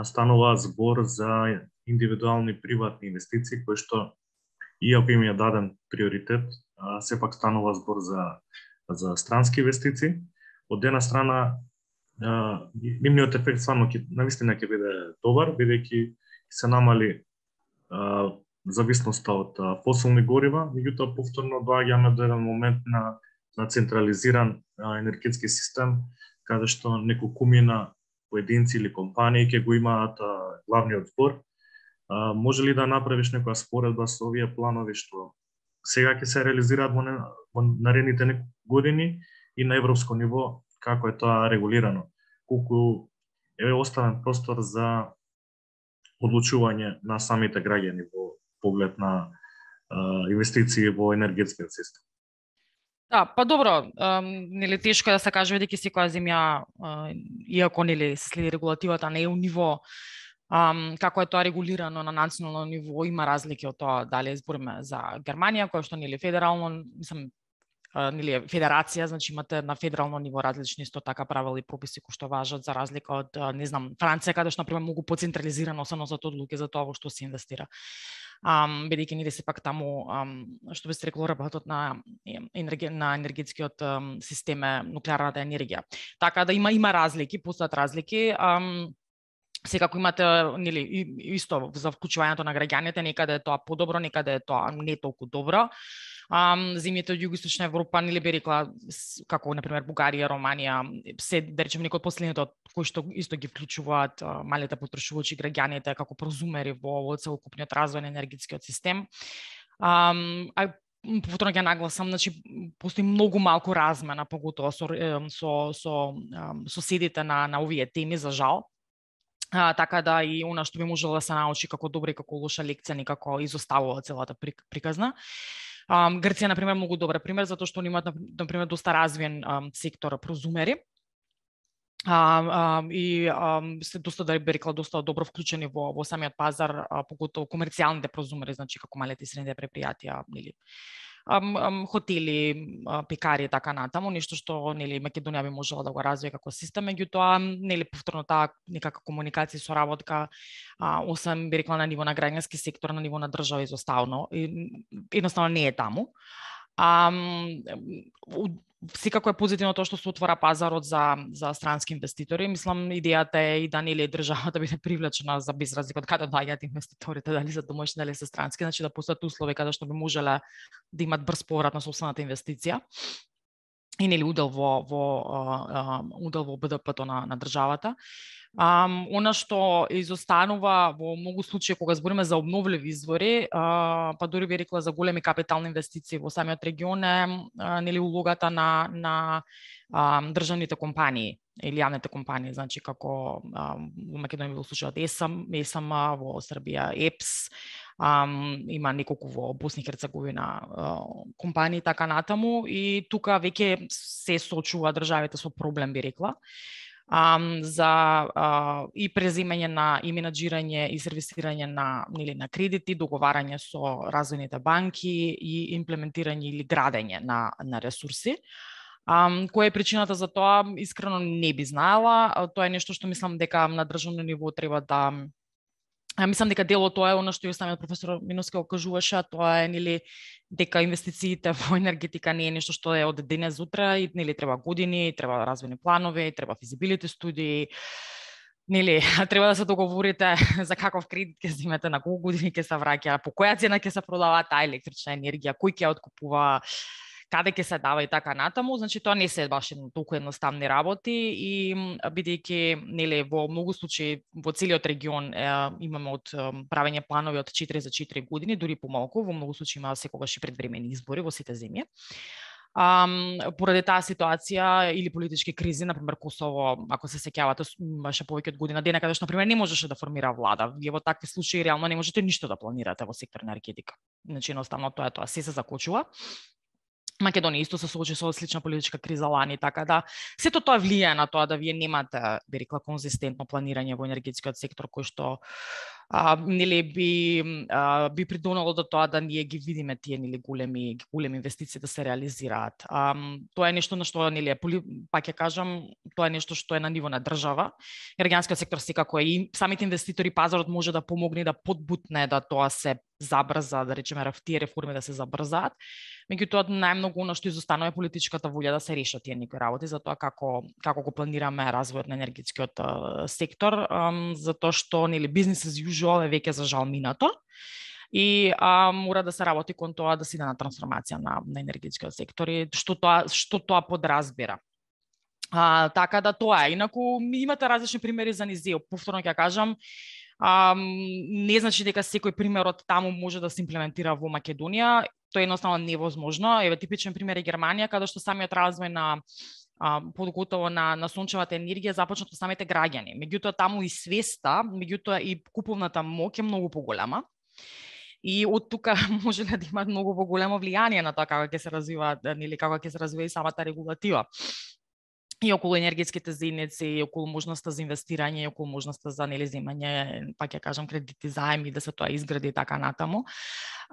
станува збор за индивидуални приватни инвестиции кои што иако им е даден приоритет, сепак станува збор за странски инвестиции. Од една страна нивниот ефект стварно навистина ќе биде добар, бидејќи се намали зависноста од фосилни горива, меѓутоа повторно доаѓаме до еден момент на централизиран енергетски систем, каде што неколкумина поединци или компании ќе го имаат главниот збор. Може ли да направиш некоја споредба со овие планови што сега ќе се реализираат во наредните години и на европско ниво, како е тоа регулирано? Колку е оставен простор за одлучување на самите граѓани во поглед на инвестиции во енергетскиот систем? Да, па добро, нели тешко е да се каже бидејќи секоја земја, иако нели се следи регулативата, не е у ниво како е тоа регулирано на национално ниво, има разлики од тоа дали збориме за Германија, која што нели федерално, мислам, нели федерација, значи имате на федерално ниво различни исто така правила и прописи кои што важат за разлика од не знам Франција, каде што на пример многу поцентрализирано се носат одлуки за тоа во што се инвестира. Бидејќи нели сепак таму што би се рекло работат на енергетскиот систем е нуклеарната енергија. Така да има разлики, постојат разлики. Секако имате нели исто за вклучувањето на граѓаните, некаде е тоа подобро, некаде е тоа не толку добро. Земјите од Југоисточна Европа, нели би рекла, како на пример Бугарија, Романија, се да речем некои од последните кои што исто ги вклучуваат малите потрошувачи граѓаните како прозумери во целокупниот развој на енергетскиот систем. Повторно ќе нагласам, значи постои многу малку размена, поготово со соседите на овие теми, за жал. Така да и она што би можело да се научи како добра и како лоша лекција некако изоставува целата приказна. Грција, на пример, многу добар пример, затоа што они имаат, на пример, доста развиен сектор прозумери. И се доста, да би рекла, доста добро вклучени во самиот пазар, поготово комерцијалните прозумери, значи како малите и средните предпријатија, нели, хотели, пекари и така натаму, нешто што нели Македонија би можела да го развие како систем, меѓутоа нели повторно таа некака комуникација и соработка, освен би рекла на ниво на граѓански сектор, на ниво на држава изоставно, едноставно не е таму. Секако е позитивно тоа што се отвора пазарот за странски инвеститори. Мислам, идејата е и да нели државата биде привлечена за без разлика од каде доаѓаат инвеститорите, дали се домашни, дали се странски, значи да постојат услови каде што би можеле да имат брз поврат на сопствената инвестиција и нели удел во БДП-то на државата. Она што изостанува во многу случаи кога збориме за обновливи извори, па дури би рекла за големи капитални инвестиции во самиот регион е нели улогата на државните компании или јавните компании, значи како во Македонија во случајот ЕСМ, во Србија ЕПС, има неколку во Босна и Херцеговина компании така натаму, и тука веќе се соочува државите со проблем, би рекла, за и преземање и менаџирање и сервисирање на кредити, договарање со развојните банки и имплементирање или градење на ресурси. Која е причината за тоа, искрено не би знаела. Тоа е нешто што мислам дека на државно ниво треба да... Мислам дека дело тоа е она што и самиот професор Миновски го кажуваше, тоа е нели дека инвестициите во енергетика не е нешто што е од денес утре, и нели треба години, треба развојни планови, треба физибилити студии. Нели треба да се договорите за каков кредит ќе земете, на колку години ќе се враќа, по која цена ќе се продава таа електрична енергија, кој ќе откупува, каде ќе се дава и така натаму, значи тоа не се баш толку едноставни работи и бидејќи нели во многу случаи во целиот регион имаме од правење планови од 4 за 4 години, дури помалку, во многу случаи има секогаш и предвремени избори во сите земји. Поради таа ситуација или политички кризи, например Косово, ако се сеќавате, имаше повеќе од година дена каде што например не можеше да формира влада. Вие во такви случаи реално не можете ништо да планирате во сектор енергетика. Значи едноставно тоа е тоа, се закочува. Македонија исто се соочи со слична политичка криза лани, така да сето тоа влијае на тоа да вие немате, би рекла, конзистентно планирање во енергетскиот сектор кој што нели би придонело до тоа да ние ги видиме тие нели големи инвестиции да се реализираат. Тоа е нешто на што нели пак ќе кажам, тоа е нешто што е на ниво на држава. Енергетскиот сектор секако е и самите инвеститори, пазарот може да помогне да подбутне да тоа се забрза, да речеме тие реформи да се забрзаат. Меѓутоа најмногу она што изостанува е политичката волја да се решат тие некои работи за тоа како го планираме развојот на енергетскиот сектор, затоа што нели бизнес as usual е веќе за жал минато и мора да се работи кон тоа да се иде на трансформација на енергетскиот сектор и што тоа подразбира. Така да тоа е. Инаку имате различни примери за низ. Повторно ќе кажам, не значи дека секој пример од таму може да се имплементира во Македонија. Тоа е едноставно невозможно. Еве типичен пример е Германија, каде што самиот развој на подготово на сончевата енергија започнат од самите граѓани. Меѓутоа таму и свеста, меѓутоа и куповната моќ е многу поголема. И од тука може да има многу поголемо влијание на тоа како ќе се развива, нели како ќе се развива и самата регулатива. И околу енергетските заедници, и околу можноста за инвестирање, и околу можноста за нели земање, пак ќе кажам, кредити, заеми, да се тоа изгради и така натаму.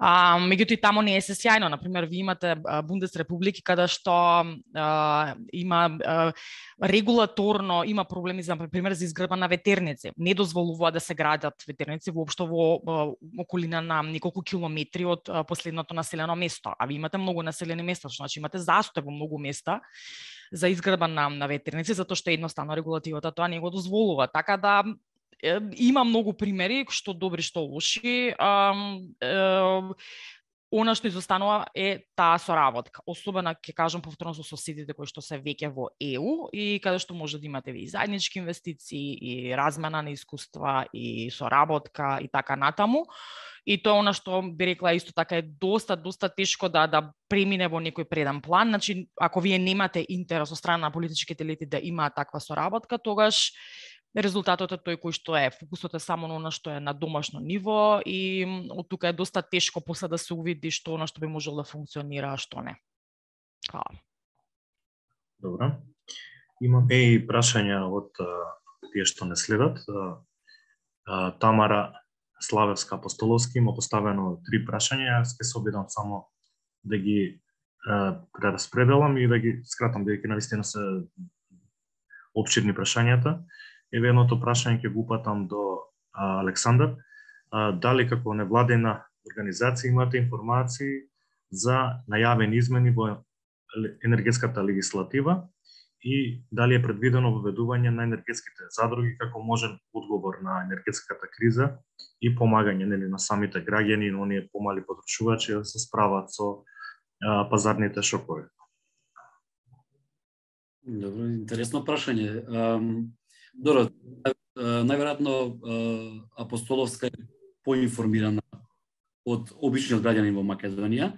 Меѓутоа и таму не е се сјајно. Например, ви имате Бундесрепублики каде што има регулаторно има проблеми за например за изградба на ветерници. Не дозволува да се градат ветерници воопшто во околина на неколку километри од последното населено место. А ви имате многу населени места, значи имате застој во многу места за изградба на ветерници, затоа што едноставно регулативата тоа не го дозволува. Така да има многу примери, што добри, што лоши. Она што изостанува е таа соработка. Особено ќе кажам повторно со соседите кои што се веќе во ЕУ и каде што може да имате и заеднички инвестиции и размена на искуства и соработка и така натаму. И тоа она што би рекла исто така е доста тешко да премине во некој преден план. Значи, ако вие немате интерес од страна на политичките елити да имаат таква соработка, тогаш резултатот е тој кој што е. Фокусот е само на она што е на домашно ниво и од тука е доста тешко после да се увиди што она што би можело да функционира, а што не. Добро. Имаме и прашања од тие што не следат. Тамара Славевска Апостоловски има поставено 3 прашања. Ќе се обидам само да ги прераспределам и да ги скратам, бидејќи навистина се опширни прашањата. Еве едното прашање ќе го упатам до Александар. Дали како невладина организација имате информации за најавени измени во енергетската легислатива и дали е предвидено воведување на енергетските задруги како можен одговор на енергетската криза и помагање на самите граѓани и оние помали потрошувачи да се справат со пазарните шокови? Добро, интересно прашање. Добро, најверојатно Апостоловска е поинформирана од обичниот граѓанин во Македонија.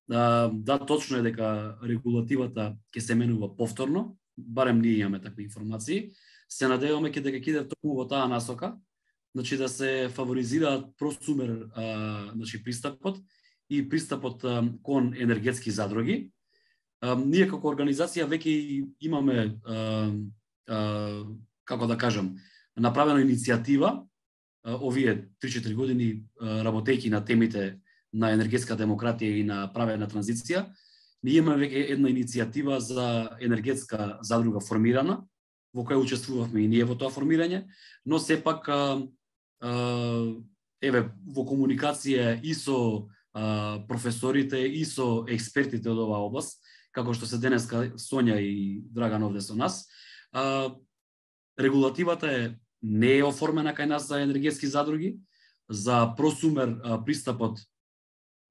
Да, точно е дека регулативата ќе се менува повторно, барем ние имаме такви информации. Се надеваме дека ќе иде токму во таа насока, значи да се фаворизираат просумер пристапот и пристапот кон енергетски задруги. Ние како организација веќе имаме како да кажам, направена иницијатива овие 3-4 години работејќи на темите на енергетска демократија и на праведна транзиција. Ние имаме веќе една иницијатива за енергетска задруга формирана, во која учествувавме и ние во тоа формирање, но сепак еве во комуникација и со професорите и со експертите од оваа област, како што се денеска Сонја и Драган овде со нас, регулативата не е оформена кај нас за енергетски задруги, за просумер пристапот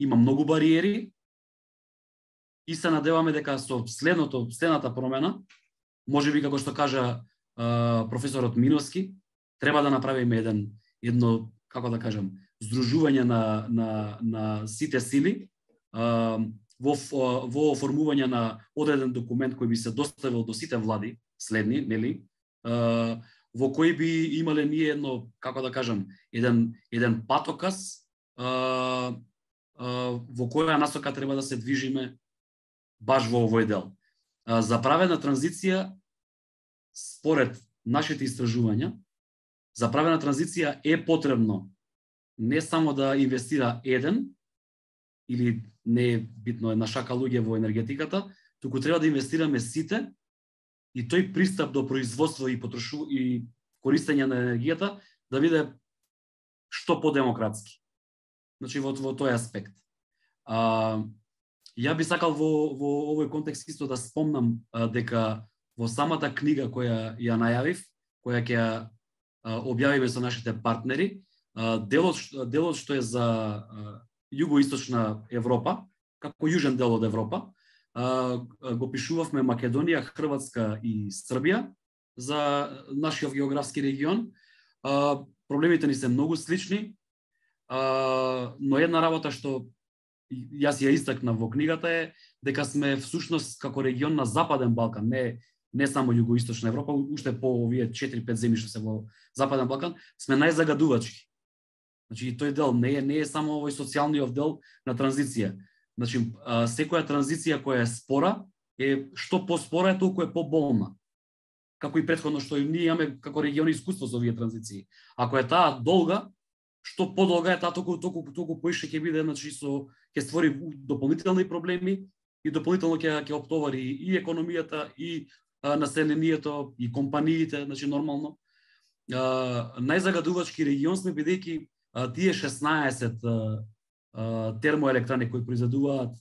има многу бариери, и се надеваме дека со следната промена, можеби како што кажа професорот Миновски, треба да направиме едно, како да кажам, здружување на сите сили во оформување на одреден документ кој би се доставил до сите влади следни, нели? Во кој би имале ние едно, како да кажам, еден патоказ во која насока треба да се движиме баш во овој дел. За праведна транзиција, според нашите истражувања, за праведна транзиција е потребно не само да инвестира еден, или не е битно една шака луѓе во енергетиката, туку треба да инвестираме сите и тој пристап до производство и користење на енергијата да биде што подемократски. Значи во тој аспект. Ја би сакал во овој контекст исто да спомнам дека во самата книга која ја најавив, која ќе објавиме со нашите партнери, делот што е за југоисточна Европа, како јужен дел од Европа, го пишувавме Македонија, Хрватска и Србија за нашиот географски регион. Проблемите ни се многу слични, но една работа што јас ја истакнав во книгата е дека сме всушност како регион на Западен Балкан, не само југоисточна Европа, уште по овие 4-5 земји што се во Западен Балкан, сме најзагадувачки. Значи тој дел не е само овој социјалниот дел на транзиција. Значи секоја транзиција која е спора е што поспора е толку е поболна. Како и претходно што и ние имаме како регион искуство со овие транзиции. Ако е таа долга, што подолга е таа толку поише ќе биде, значи ќе створи дополнителни проблеми и дополнително ќе оптовари и економијата и населението и компаниите, значи нормално. Најзагадувачки регион сме бидејќи тие 16 термоелектрани кои произведуваат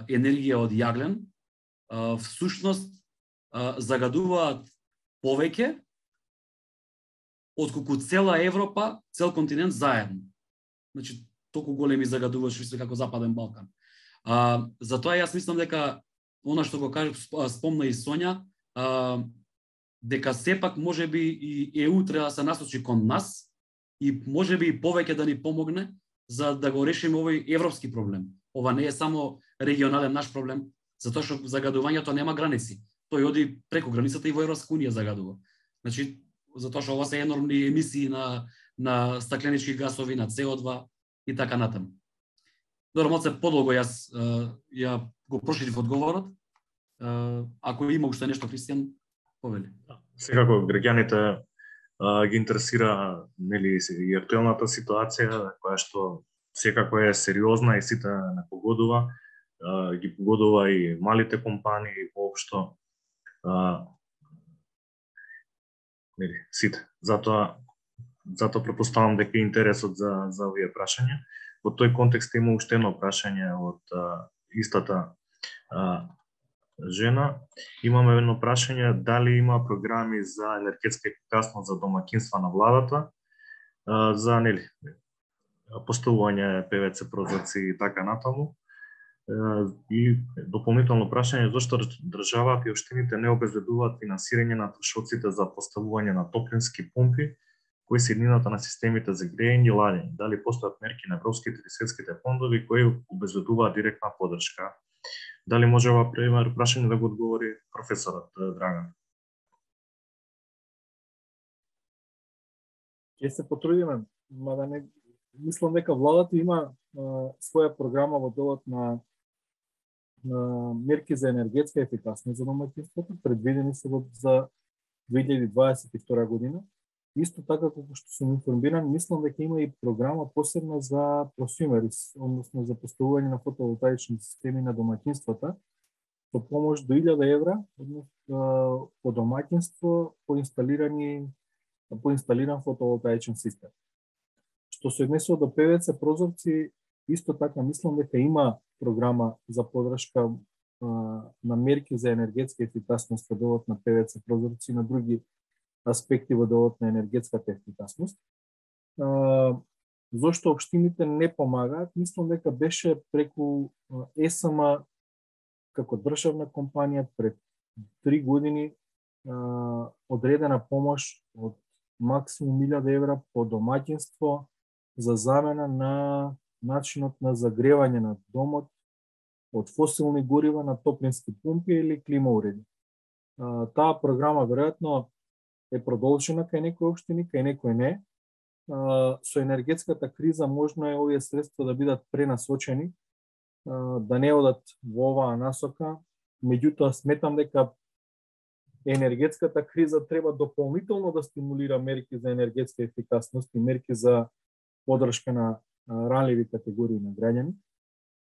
енергија од јаглен, всушност загадуваат повеќе отколку цела Европа, цел континент заедно. Значи толку големи загадувачи се како Западен Балкан. Затоа јас мислам дека она што го кажа, спомна и Сонја, дека сепак можеби и ЕУ треба да се насочи кон нас и можеби и повеќе да ни помогне за да го решиме овој европски проблем. Ова не е само регионален наш проблем, затоа што загадувањето нема граници. Тој оди преку границата и во Европска унија загадува. Значи, затоа што ова се енормни емисии на стакленички гасови, на CO2 и така натаму. Добро, малце подолго јас ја го проширив одговорот. Ако има уште нешто, Кристијан, повели. Секако граѓаните ги интересира, нели, и актуелната ситуација, која што секако е сериозна и сите не погодува, ги погодува и малите компании воопшто, нели, сите. Затоа претпоставам дека е интересот за овие прашања. Во тој контекст има уште едно прашање од истата жена. Имаме едно прашање дали има програми за енергетска ефикасност за домаќинства на владата, за, нели, поставување ПВЦ прозорци и така натаму. И дополнително прашање зошто државата и општините не обезбедуваат финансирање на трошоците за поставување на топлински помпи кои се еднината на системите за грејење и ладење. Дали постојат мерки на европските или светските фондови кои обезбедуваат директна поддршка? Дали може ова прашање да го одговори професорот Драган? Ќе се потрудиме, мада не мислам дека владата има своја програма во делот на мерки за енергетска ефикасност за домаќинството, предвидени се за 2022 година. Исто така како што сум информиран, мислам дека има и програма посебна за просумерис, односно за поставување на фотоволтаични системи на домаќинствата со помош до 1000 евра, односно по домаќинство по инсталиран фотоволтаичен систем. Што се однесува до ПВЦ прозорци, исто така мислам дека има програма за поддршка на мерки за енергетска ефикасност во делот на ПВЦ прозорци и на други аспекти во делот на енергетската ефикасност. Зошто општините не помагаат? Мислам дека беше преку ЕСМ како државна компанија пред 3 години одредена помош од максимум 1000 евра по домаќинство за замена на начинот на загревање на домот од фосилни горива на топлински пумпи или клима уреди. Таа програма веројатно е продолжена кај некои општини, кај некои не. Со енергетската криза можно е овие средства да бидат пренасочени, да не одат во оваа насока. Меѓутоа сметам дека енергетската криза треба дополнително да стимулира мерки за енергетска ефикасност и мерки за поддршка на ранливи категории на граѓани.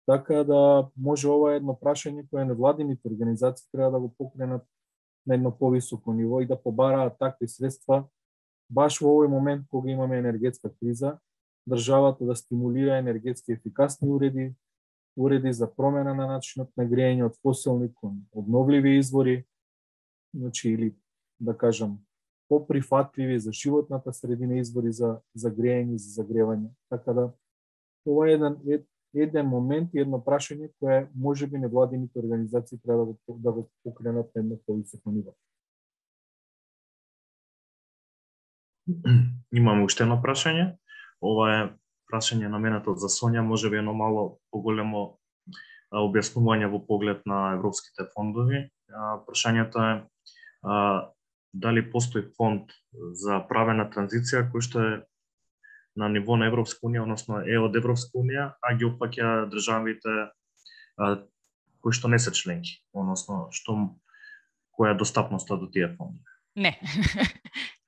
Така да може ова едно прашање кое невладините организации треба да го покренат на едно повисоко ниво и да побараат такви средства баш во овој момент кога имаме енергетска криза, државата да стимулира енергетски ефикасни уреди за промена на начинот на грејење од фосилни кон обновливи извори, значи или да кажам поприфатливи за животната средина извори за грејење и за загревање. Така да ова е еден момент и едно прашање кое можеби невладините организации треба да го покренат на едно повисоко ниво. Имам уште едно прашање. Ова е прашање наменато за Сонја, можеби едно мало поголемо објаснување во поглед на европските фондови. Прашањето е дали постои фонд за правена транзиција кој што е на ниво на Европска унија, односно е од Европска унија, а ги опфаќа државите кои што не се членки, односно која е достапноста до тие фондови? Не.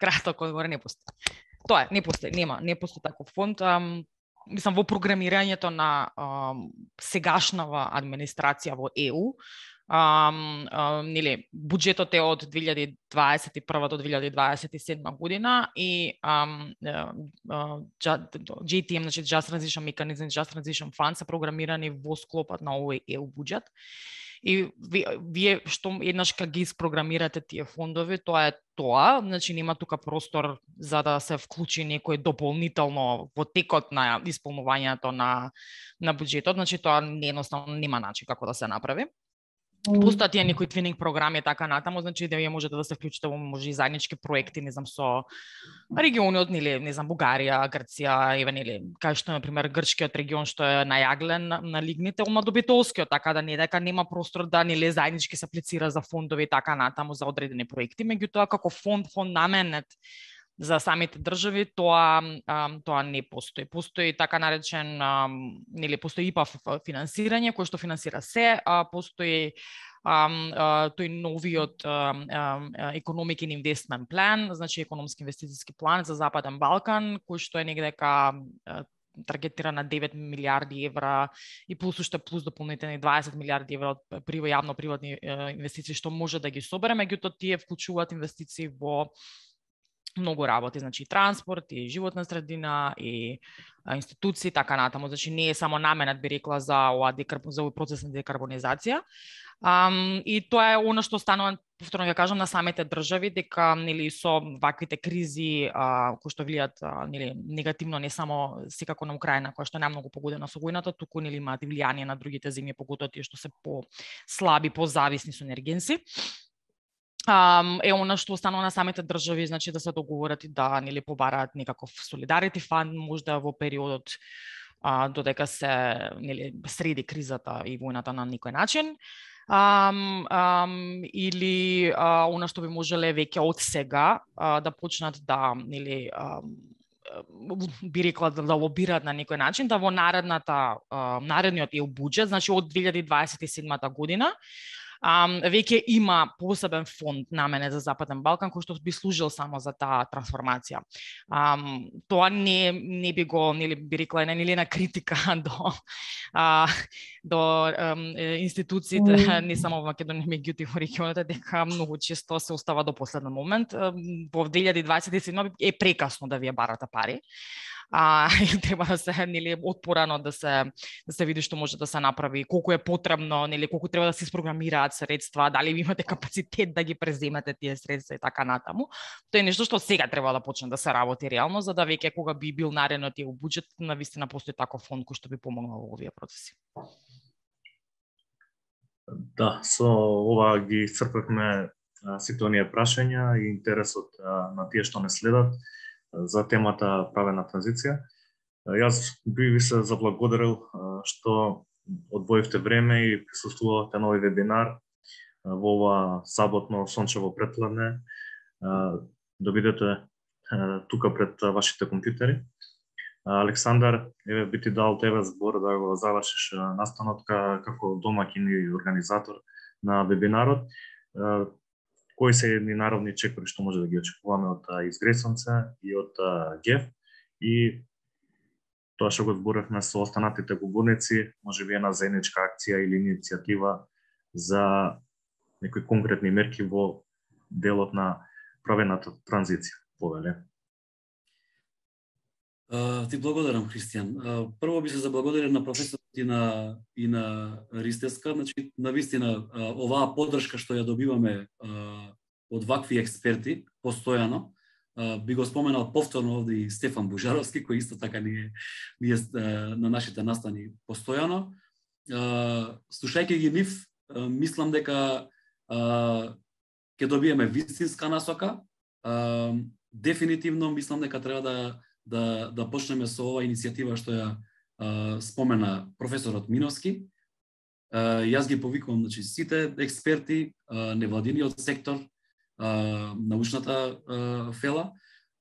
Краток одговор, не постои. Тоа е, не постои, не постои таков фонд. Мислам, во програмирањето на сегашнава администрација во ЕУ, нели, буџетот е од 2021 до 2027 година и JTM, значи Just Transition Mechanism, Just Transition Fund се програмирани во склопот на овој ЕУ буџет. И вие што еднаш кога ги испрограмирате тие фондови, тоа е тоа, значи нема тука простор за да се вклучи некој дополнително во текот на исполнувањето на буџетот, значи тоа едноставно нема начин како да се направи. Постојат тие некои твининг програми и така натаму, значи да вие можете да се вклучите во може и заеднички проекти, не знам, со региони од, не знам, Бугарија, Грција, нели, кај што например грчкиот регион што е најаглен на лигните, на добитолскиот, така да не дека нема простор да нели заеднички се аплицира за фондови и така натаму за одредени проекти, меѓутоа како фонд наменет за самите држави, тоа не постои. Постои така наречен, нели, постои ИПА финансирање, кој што финансира се, постои тој новиот Economic and Investment Plan, значи економски инвестициски план за Западен Балкан, кој што е негдека таргетира на 9 милиарди евра и плюс дополнителни 20 милиарди евра од јавно-приватни инвестиции што може да ги собере, меѓутоа тие вклучуваат инвестиции во многу работи, значи и транспорт, и животна средина, и институции, така натаму. Значи не е само наменет, би рекла, за овој процес на декарбонизација. И тоа е она што станува, повторно ќе кажам, на самите држави, дека нели со ваквите кризи кои што влијат нели негативно не само секако на Украина, која што не е многу погодена со војната, туку нели имаат и влијание на другите земји, поготоа тие што се по-слаби, по-зависни со енергенси. Е она што останува на самите држави, значи да се договорат и да нели побараат некаков солидарити фанд можда во периодот додека се нели среди кризата и војната на никој начин. Или она што би можеле веќе од сега да почнат да нели би рекла да лобираат на некој начин, да во наредниот ЕУ буџет, значи од 2027 година, веќе има посебен фонд наменет за Западен Балкан кој што би служил само за таа трансформација. Тоа не би го, нели би рекла, нели на критика до институциите не само во Македонија, меѓутоа во регионот, дека многу често се остава до последен момент. Во 2027 е прекасно да вие барате пари. Треба да се нели отпорано да се види што може да се направи, колку е потребно, нели колку треба да се испрограмираат средства, дали ви имате капацитет да ги преземете тие средства и така натаму. Тоа е нешто што сега треба да почне да се работи реално, за да веќе кога би бил наредниот ЕУ буџет, навистина постои таков фонд кој што би помогнал во овие процеси. Да, со ова ги исцрпевме сите оние прашања и интересот на тие што не следат за темата правена транзиција. Јас би ви се заблагодарил што одвоивте време и присуствувавте на овој вебинар во ова саботно сончево претпладне. Да бидете тука пред вашите компјутери. Александар, еве би ти дал тебе збор да го завршиш настанот како домаќин и организатор на вебинарот. Кои се едни народни чекори што може да ги очекуваме од Изгресонце и од ГЕФ и тоа што го зборевме со останатите говорници, може би една заедничка акција или иницијатива за некои конкретни мерки во делот на правената транзиција. Повеле. Ти благодарам, Христијан. Прво би се заблагодарил на професорот и на Ристеска, значи навистина оваа поддршка што ја добиваме од вакви експерти постојано. Би го споменал повторно овде и Стефан Бужаровски, кој исто така ни е на нашите настани постојано. Слушајќи ги нив, мислам дека ќе добиеме вистинска насока. Дефинитивно мислам дека треба да почнеме со оваа иницијатива што ја спомена професорот Миновски. Јас ги повикувам, значи, сите експерти, невладиниот сектор, научната фела,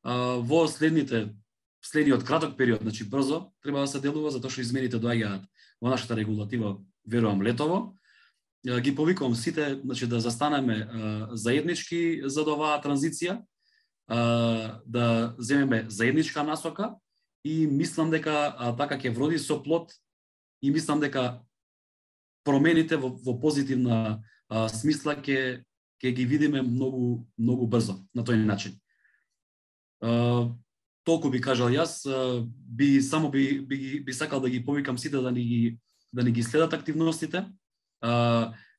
во следниот краток период, значи брзо треба да се делува, затоа што измените доаѓаат во нашата регулатива, верувам, летово. Ги повикувам сите, значи, да застанеме заеднички за оваа транзиција, да земеме заедничка насока и мислам дека така ќе вроди со плод и мислам дека промените во позитивна смисла ќе ги видиме многу брзо на тој начин. Толку би кажал јас, би сакал да ги повикам сите да ни ги следат активностите,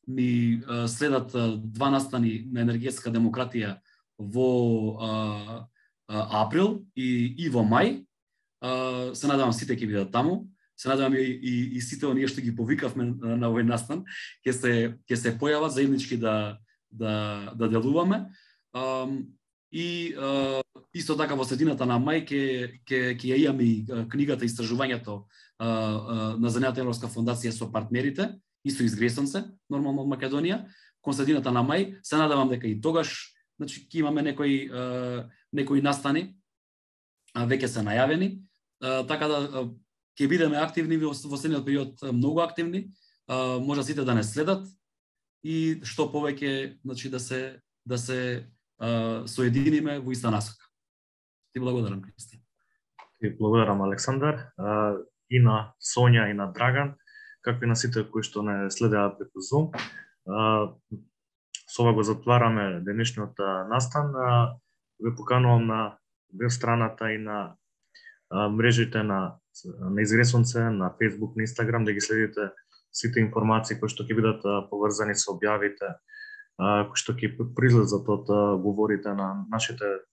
ни следат два настани на енергетска демократија во април и во мај. Се надевам сите ќе бидат таму. Се надевам и сите оние што ги повикавме на овој настан ќе се појават заеднички да делуваме. И исто така во средината на мај ќе ја имаме и книгата истражувањето на Заедната Европска фондација со партнерите и со Изгресонце, нормално од Македонија. Кон средината на мај се надевам дека и тогаш, значи, ќе имаме некои настани веќе се најавени, така да ќе бидеме активни во следниот период, многу активни, може сите да не следат и што повеќе, значи, да се соединиме во иста насока. Ти благодарам, Христијан. Ти благодарам, Александар, и на Сонја и на Драган, какви на сите кои што не следеа преку Zoom. Со ова го затвараме денешниот настан. Ве поканувам на веб страната и на мрежите на Изгресонце, на Facebook, на Instagram, да ги следите сите информации кои што ќе бидат поврзани со објавите, кои што ќе произлезат од говорите на нашите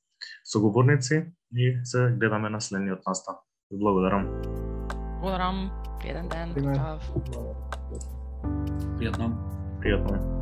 соговорници и се гледаме на следниот настан. Благодарам. Благодарам. Пријатен ден. Пријатно. Пријатно.